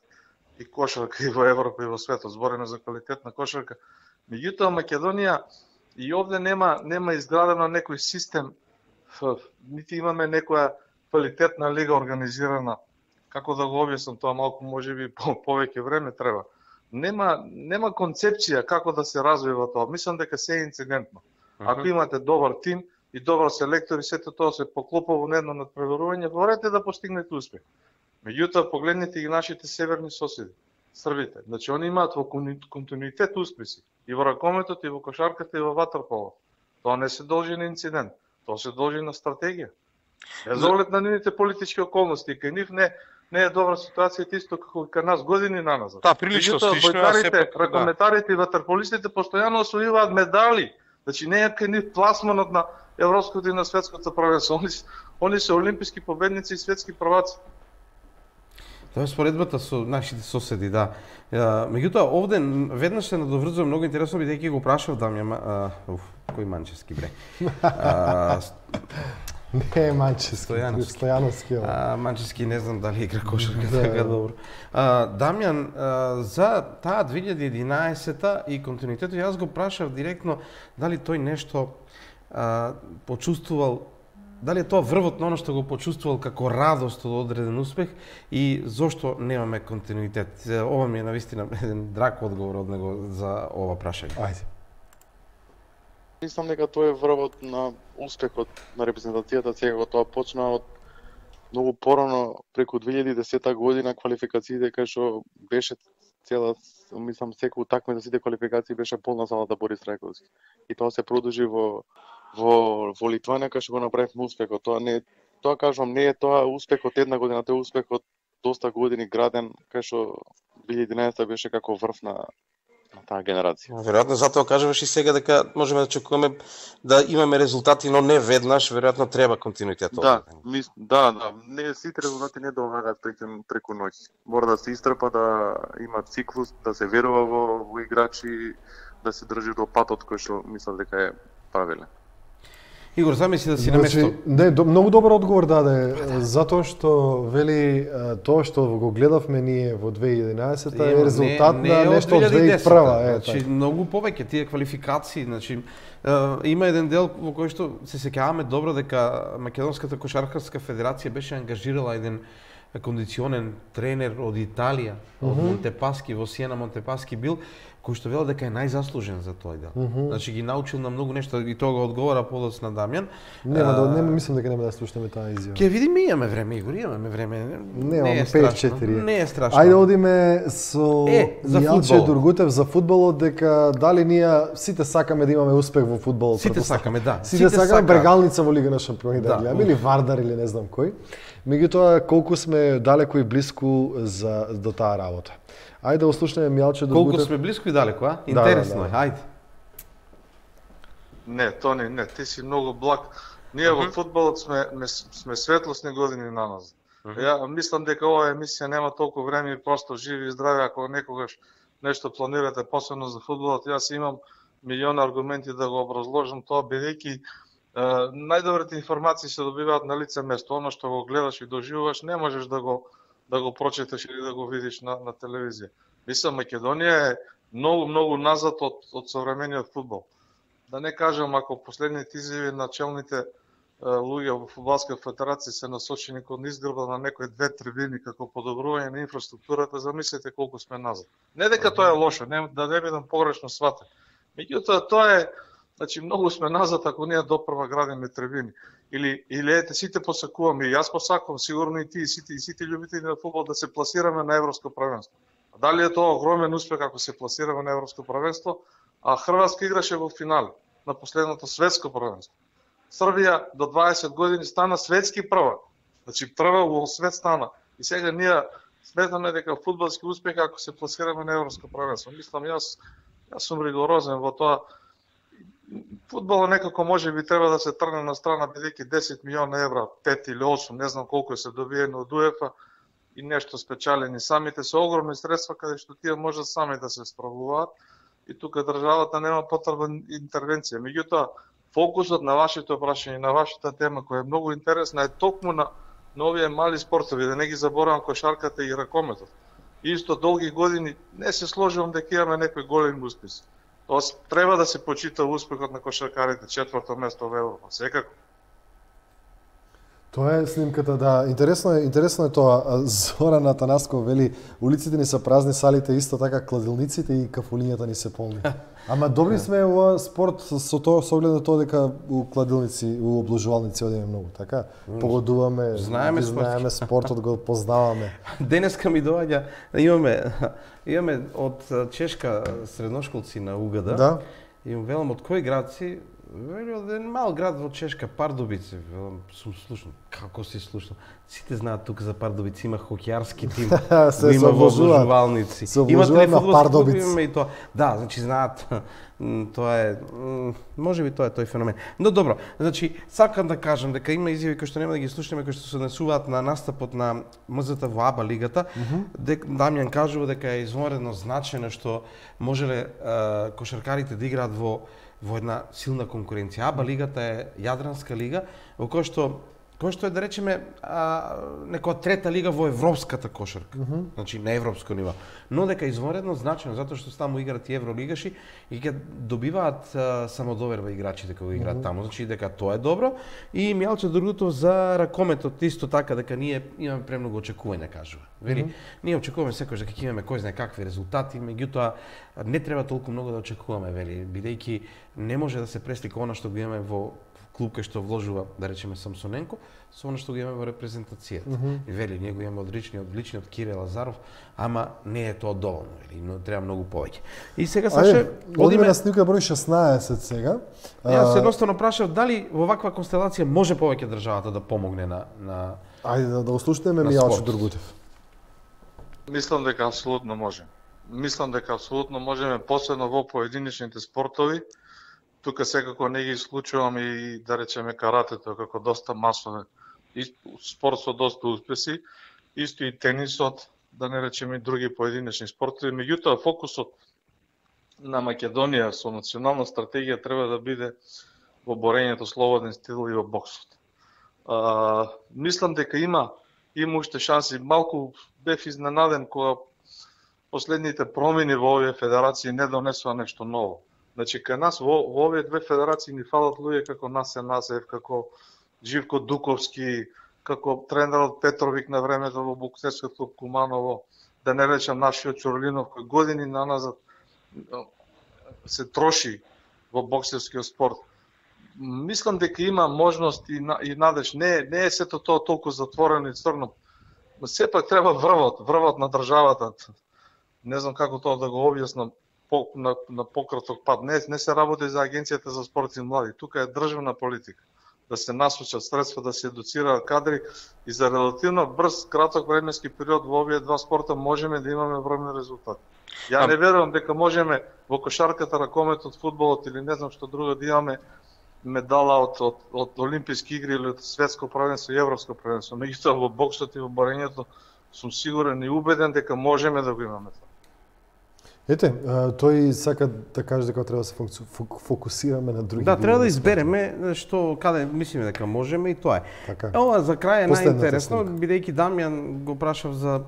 и кошарка и во Европа и во светот, збориме за квалитетна кошарка. Меѓутоа Македонија и овде нема изградено некој систем, нити имаме некоја квалитетна лига организирана. Како да го објаснам тоа, малку можеби повеќе време треба. Нема концепција како да се развива тоа. Мислам дека се е инцидентно. Ако имате добар тим и добар селектор и сето тоа се поклопува во едно надпреварување, можете да постигнете успех. Меѓутоа погледнете и нашите северни соседи, србите. Значи они имаат во континуитет успеси и во ракометот, и во кошарката, и во ватерполот. Тоа не се должи на инцидент, тоа се должи на стратегија. За оглед на нивните политички околности, кај нив не е добра ситуацијата исто како кај нас години наназад. Да, прилично слично, ракометарите и ватерполистите постојано освојуваат медали. Значи не е кај нив пласманот на европското и на светското првенство. Они се олимписки победници и светски прваци. Тоа е споредбата со нашите соседи, да. Меѓутоа, овде веднаш се надоврзувам многу интересно, бидејќи го прашав Дамјан, кој Манчевски бре? Не е Манчевски, Стојановски. Манчевски не знам дали игра кошарка така добро. Дамјан, за таа 2011-та и континуитетот, јас го прашав директно дали тој нешто почувствувал, дали е тоа врвот на оно што го почувствувал како радост од одреден успех и зошто немаме континуитет? Ова ми е навистина еден драг одговор од него за ова прашање. Ајде. Мислам дека тоа е врвот на успехот на репрезентацијата, сега тоа почна од многу порано, преку 2010 година, квалификациите кај што беше цела, мислам, секој утакмица, сите квалификации беше полна залата Борис Рајковски. И тоа се продолжи во Литванија, кај што го направивме успехот. Тоа кажувам, не е тоа успехот една година, тоа е успехот доста години граден, кај што 2011 беше како врв на таа генерација. Веројатно затоа кажуваш и сега дека можеме да очекуваме да имаме резултати, но не веднаш, веројатно треба континуитет. Да, не сите резултати не доаѓаат преку ноќ. Мора да се истрпа, да има циклус, да се верува во играчи, да се држи до патот кој што мислам дека е правилен. Игор, замисли да си на место. Не, многу добар одговор даде, затоа што вели тоа што го гледавме ние во 2011-та е резултат на нешто од 2001-та. Значи многу повеќе тие квалификации, значи има еден дел во кој што се сеќаваме добро дека Македонската кошаркарска федерација беше ангажирала еден кондиционен тренер од Италија, од Монтепаски, во Сиена Монтепаски бил, кој што вела дека е најзаслужен за тој дел. Значи ги научил на многу нешто и тоа го одговора подоцна Дамјан. Нема, мислам дека нема да слушаме таа изјава. Ќе видиме, имаме време, Игор, имаме време. Не е страшно. Не е страшно. Ајде одиме со Јалче Дургутев за фудбалот, дека дали ние сите сакаме да имаме успех во фудбалот. Сите сакаме, да. Сите сакаме брегалница во Лига на шампиони да гледаме, или Вардар или не знам кој. Меѓутоа колку сме далеко и блиску до таа работа. Ајде да ослушнеме Мјалче Дургутев. Колку сме блиску и далеко, а? Интересно е, ајде. Не, Тони, не, ти си многу благ. Ние во фудбалот сме светлосни години наназад. Ја мислам дека оваа емисија нема толку време и просто живи и здрави, ако некогаш нешто планирате посебно за фудбалот, јас имам милиони аргументи да го образложам тоа, бидејќи најдобрите информации се добиваат на лице место. Оно што го гледаш и доживуваш, не можеш да го прочиташ или да го видиш на телевизија. Мислам, Македонија е многу назад од современиот фудбал. Да не кажам, ако последните изјави на челните луѓе во фудбалска федерација се насочени кон изгрба на некои две трибини како подобрување на инфраструктурата, замислете колку сме назад. Не дека тоа е лошо, да не бидам погрешно сватен. Меѓутоа тоа е, значи многу сме назад ако ние допрва градиме трибини. Или ете сите посакуваме, и јас посакувам, сигурно и ти, и сите љубители на фудбал да се пласираме на европско првенство. А дали е тоа огромен успех ако се пласираме на европско првенство, а Хрватска играше во финале на последното светско првенство. Србија до 20 години стана светски прва. Значи прва во свет стана. И сега ние сметаме дека фудбалски успех ако се пласираме на европско првенство. Мислам, јас сум ригорозен во тоа. Фудбалот некако може би треба да се тргне на страна, бидејќи 10 милиона евра, 5 или 8, не знам колку се добиени од УЕФА и нешто спечалени самите, се огромни средства каде што тие можат сами да се справуваат. и тука државата нема потреба интервенција. Меѓутоа, фокусот на вашето прашање, на вашата тема која е многу интересна е токму на овие мали спортови, да не ги заборавам кошарката и ракометот. Исто долги години не се сложувам дека имаме некои големи успеси. Тоа треба да се почита успехот на кошаркарите, 4-то место во Европа, секако. Тоа е снимката, да. Интересно е тоа. Зоран Атанасков вели, улиците ни се празни, салите исто така, кладилниците и кафулињата ни се полни. Ама добри сме во спорт со тоа, со оглед на тоа дека у кладилници, у обложувалници одиме многу, така? Погодуваме, знаеме спортот, го познаваме. Денеска ми доаѓа, имаме од чешка средношколци на УГД. Да. И велам од кој град си? Вели од еден мал град во Чешка, Пардубице. Велам, сум слушнал. Како си слушнал? Сите знаат тука за Пардубице, има хокејарски тим, има обложувалници. Има фудбалски клуб, има и тоа. Да, значи знаат. Тоа е, можеби тоа е тој феномен. Но добро, значи сакам да кажам дека има изјави кои што нема да ги слушнеме, кои што се однесуваат на настапот на МЗТ во АБА лигата. Дамјан кажува дека е извонредно значајно што можеле кошаркарите да играат во една силна конкуренција. АБА лигата е јадранска лига, во која што е, да речеме, некоја трета лига во европската кошарка. Значи, на европско ниво. Но дека извонредно значајно, затоа што таму играат и евролигаши и ќе добиваат самодоверба играчите кога играат таму. Значи, дека тоа е добро. И Мјалче Другутов за ракометот исто така, дека ние имаме премногу очекувања, кажува. Вели, ние очекуваме секојаш дека ќе имаме кој знае какви резултати, меѓутоа не треба толку многу да очекуваме, вели, бидејќи не може да се преслика она што го имаме во клуб кај што вложува, да речеме, Самсоненко, со она што го имаме во репрезентацијата. И вели, ние го имаме одлични од Кире Лазаров, ама не е тоа доволно, вели, но треба многу повеќе. И сега Саше, одиме на снимка број 16 сега. Јас едноставно прашав дали во ваква констелација може повеќе државата да помогне на Ајде да услушнеме Мијалчо Другутев. Мислам дека апсолутно може. Можеме посебно во поединечните спортови. Тука секако не ги исклучувам и, да речеме, каратето како доста масовен спорт со доста успеси, исто и тенисот, да не речеме и други поединечни спортови. Меѓутоа, фокусот на Македонија со национална стратегија треба да биде во борењето слободен стил и во боксот. Мислам дека има уште шанси. Малку бев изненаден кога последните промени во овие федерации не донесува нешто ново. Значи, кај нас во овие две федерации ни фалат луѓе како Насе Насев, како Живко Дуковски, како тренерот Петровик на времето во боксерското Куманово, да не речам нашиот Чорлинов, кој години наназад се троши во боксерскиот спорт. Мислам дека има можност и надеж. Не е сето тоа толку затворено и црно. Но сепак треба врвот на државата. Не знам како тоа да го објаснам на пократок пат. Не се работи за Агенцијата за спорт и млади. Тука е државна политика. Да се насочат средства, да се едуцираат кадри и за релативно брз, краток временски период во овие два спорта можеме да имаме врвни резултати. Ја не верувам дека можеме во кошарката, ракометот, фудбалот или не знам што друго да имаме медала од Олимписки игри или од светско првенство и европско првенство. Меѓутоа во боксот и во борењето сум сигурен и убеден дека можеме да го имаме тоа. Ете, тој сака да каже дека треба да се фокусираме на други. Да, треба да избереме што каде мислиме дека можеме и тоа е. Така. Ова за крај е најинтересно, бидејќи Дамјан го прашав за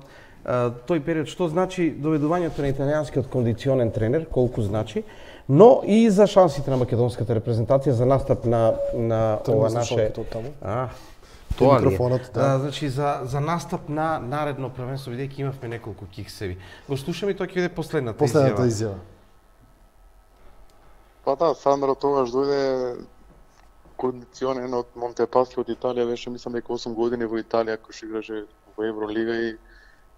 тој период што значи доведувањето на италијанскиот кондиционен тренер, колку значи, но и за шансите на македонската репрезентација за настап на ова наше тоа микрофонот, да. Значи за настап на наредно првенство, бидејќи имавме неколку киксеви. Го слушаме и тоа ќе биде последната изјава. Па да, Сандро тогаш дојде кондиционен од Монтепаски од Италија, беше мислам дека 8 години во Италија кој играше во Евролига и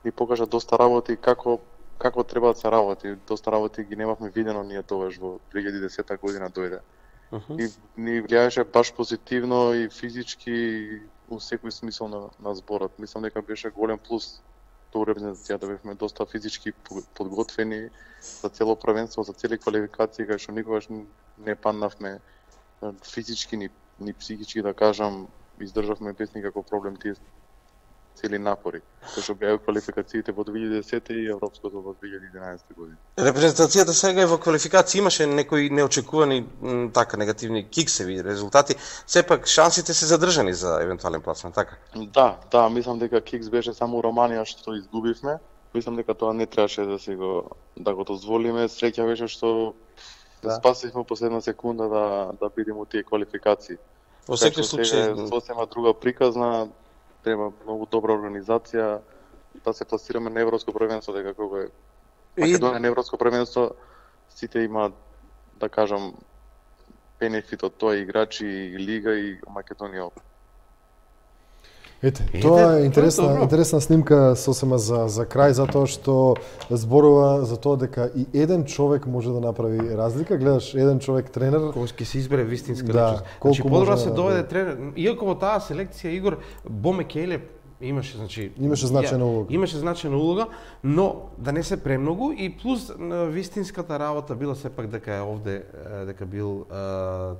ни покажа доста работи како треба да се работи. Доста работи ги немавме видено ние тогаш во 2010 година дојде. И ни влијаеше баш позитивно и физички и во секој смисол на зборот. Мислам дека беше голем плюс тоа репрезентацијата, бевме доста физички подготвени за цело првенство, за цели квалификации, кај што никогаш не паднавме физички ни психички, да кажам, издржавме без никаков проблем тие цели напори, кои што беа квалификациите во 2010 и европското во 2011 година. Репрезентацијата сега е во квалификација, имаше некои неочекувани така негативни киксеви резултати, сепак шансите се задржани за евентуален пласман, така? Да, мислам дека кикс беше само Романија што изгубивме. Мислам дека тоа не требаше да го дозволиме. Среќа беше што спасивме последна секунда да бидеме у тие квалификации. Во секој случај сосема друга приказна, треба многу добра организација да се пласираме на европско првенство, дека кога е Македонија на европско првенство, сите имаат, да кажам, бенефит од тоа, играчи, и лига и Македонија. Ете, тоа е интересна снимка сосема за крај, затоа што зборува за тоа дека и еден човек може да направи разлика. Гледаш, еден човек тренер кој ќе се избере вистинска личност. Значи подобро се доведе тренер, иако во таа селекција Игор Бомекеле имаше значајна улога. Имаше значајна улога, но да не се премногу и плюс вистинската работа била сепак дека е овде, дека бил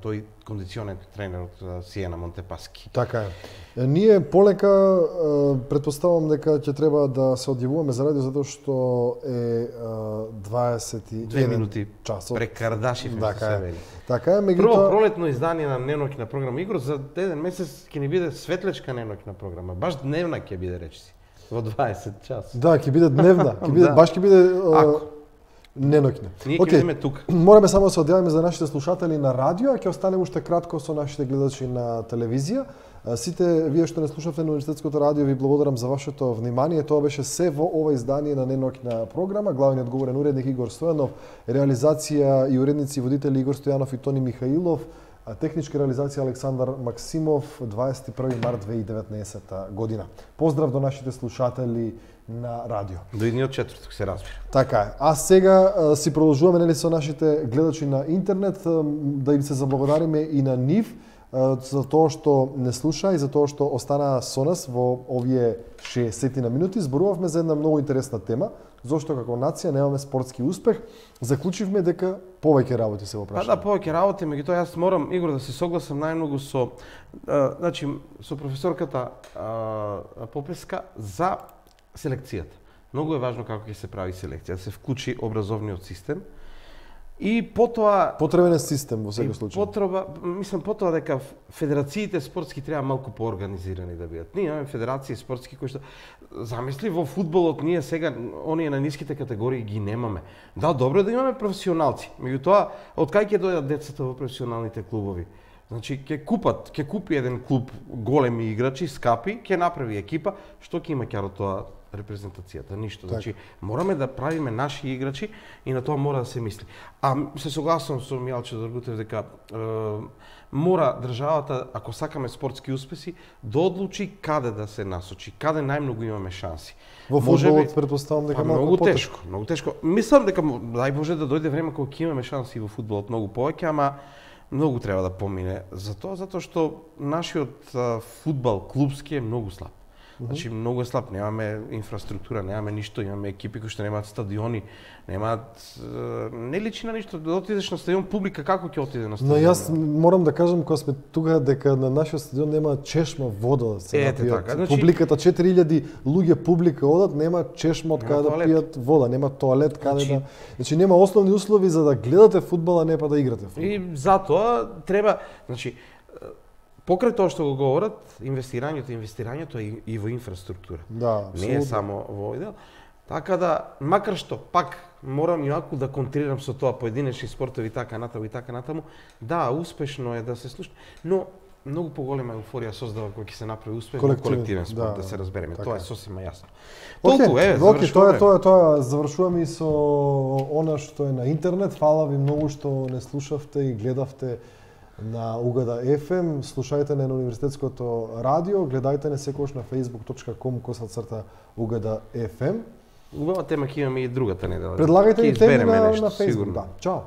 тој кондиционен тренер од Сиена Монтепаски. Така е. Ние полека претпоставувам дека ќе треба да се одјавуваме за радио затоа што е 22 минути часот. Прекардаши се вели. Така е, меѓутоа прво пролетно издание на неноќна програма Игор за еден месец ќе ни биде светлечка неноќна програма. Баш дневна ќе биде речиси во 20 часот. Да, ќе биде дневна, баш ќе биде неноќна. Ние ќе бидеме тука. Мораме само да се одјавиме за нашите слушатели на радио, а ќе останеме уште кратко со нашите гледачи на телевизија. Сите вие што не слушавте на Универзитетското радио, ви благодарам за вашето внимание. Тоа беше се во ова издание на неноќна програма. Главниот говорен уредник Игор Стојанов, реализација и уредници и водители Игор Стојанов и Тони Михаилов, техничка реализација Александар Максимов, 21 март 2019 година. Поздрав до нашите слушатели на радио. До идниот четврток се разбира. Така е. А сега си продолжуваме нели со нашите гледачи на интернет да им се заблагодариме и на нив за тоа што не слуша и за тоа што останаа со нас во овие 60 минути. Зборувавме за една многу интересна тема, зошто како нација немаме спортски успех. Заклучивме дека повеќе работи се во прашање. Да, повеќе работи, меѓутоа јас морам, Игор, да се согласам најмногу со со професорката Попеска за селекцијата. Многу е важно како ќе се прави селекција, да се вклучи образовниот систем. И потоа потребен е систем во секој случај. Потоа дека федерациите спортски треба малку поорганизирани да бидат. Ние имаме федерации спортски кои што замисли во фудбалот ние сега оние на ниските категории ги немаме. Да, добро е да имаме професионалци. Меѓутоа, од кај ќе дојдат децата во професионалните клубови? Значи ќе купи еден клуб големи играчи, скапи, ќе направи екипа, што ќе има каро тоа репрезентацијата, ништо. Значи, мораме да правиме наши играчи и на тоа мора да се мисли. А се согласувам со Мијалче Доргутев дека мора државата, ако сакаме спортски успеси, да одлучи каде да се насочи, каде најмногу имаме шанси. Во фудбалот претпоставам дека многу тешко, многу тешко. Мислам дека дај Боже да дојде време кога ќе имаме шанси во фудбалот многу повеќе, ама многу треба да помине за тоа, затоа што нашиот фудбал клубски е многу слаб. Значи многу е слаб, немаме инфраструктура, немаме ништо, имаме екипи кои што немаат стадиони, не личи на ништо. Да отидеш на стадион, публика како ќе отиде на стадион? Но јас морам да кажам кога сме тука дека на нашиот стадион нема чешма вода да се напијат. Така, значи... Публиката 4000 луѓе публика одат, нема чешма од каде да пијат вода, нема тоалет каде да. Значи нема основни услови за да гледате фудбал, а не па да играте фудбал. И затоа треба, значи покрај тоа што го говорат, инвестирањето е и во инфраструктура. Да, не е само во овој дел. Така да, макар што пак морам јако да контрирам со тоа поединечни спортови така натаму, да, успешно е да се слуша, но многу поголема еуфорија создава кога ќе се направи успех во колективен спорт, да се разбереме. Тоа е сосема јасно. Толку Тоа завршуваме и со она што е на интернет. Фала ви многу што не слушавте и гледавте на Угада FM, слушајте на Универзитетското радио, гледајте не секогаш на facebook.com/Угада FM. Убава тема ќе имаме и другата недела. Предлагајте и теми на Facebook. Да. Чао.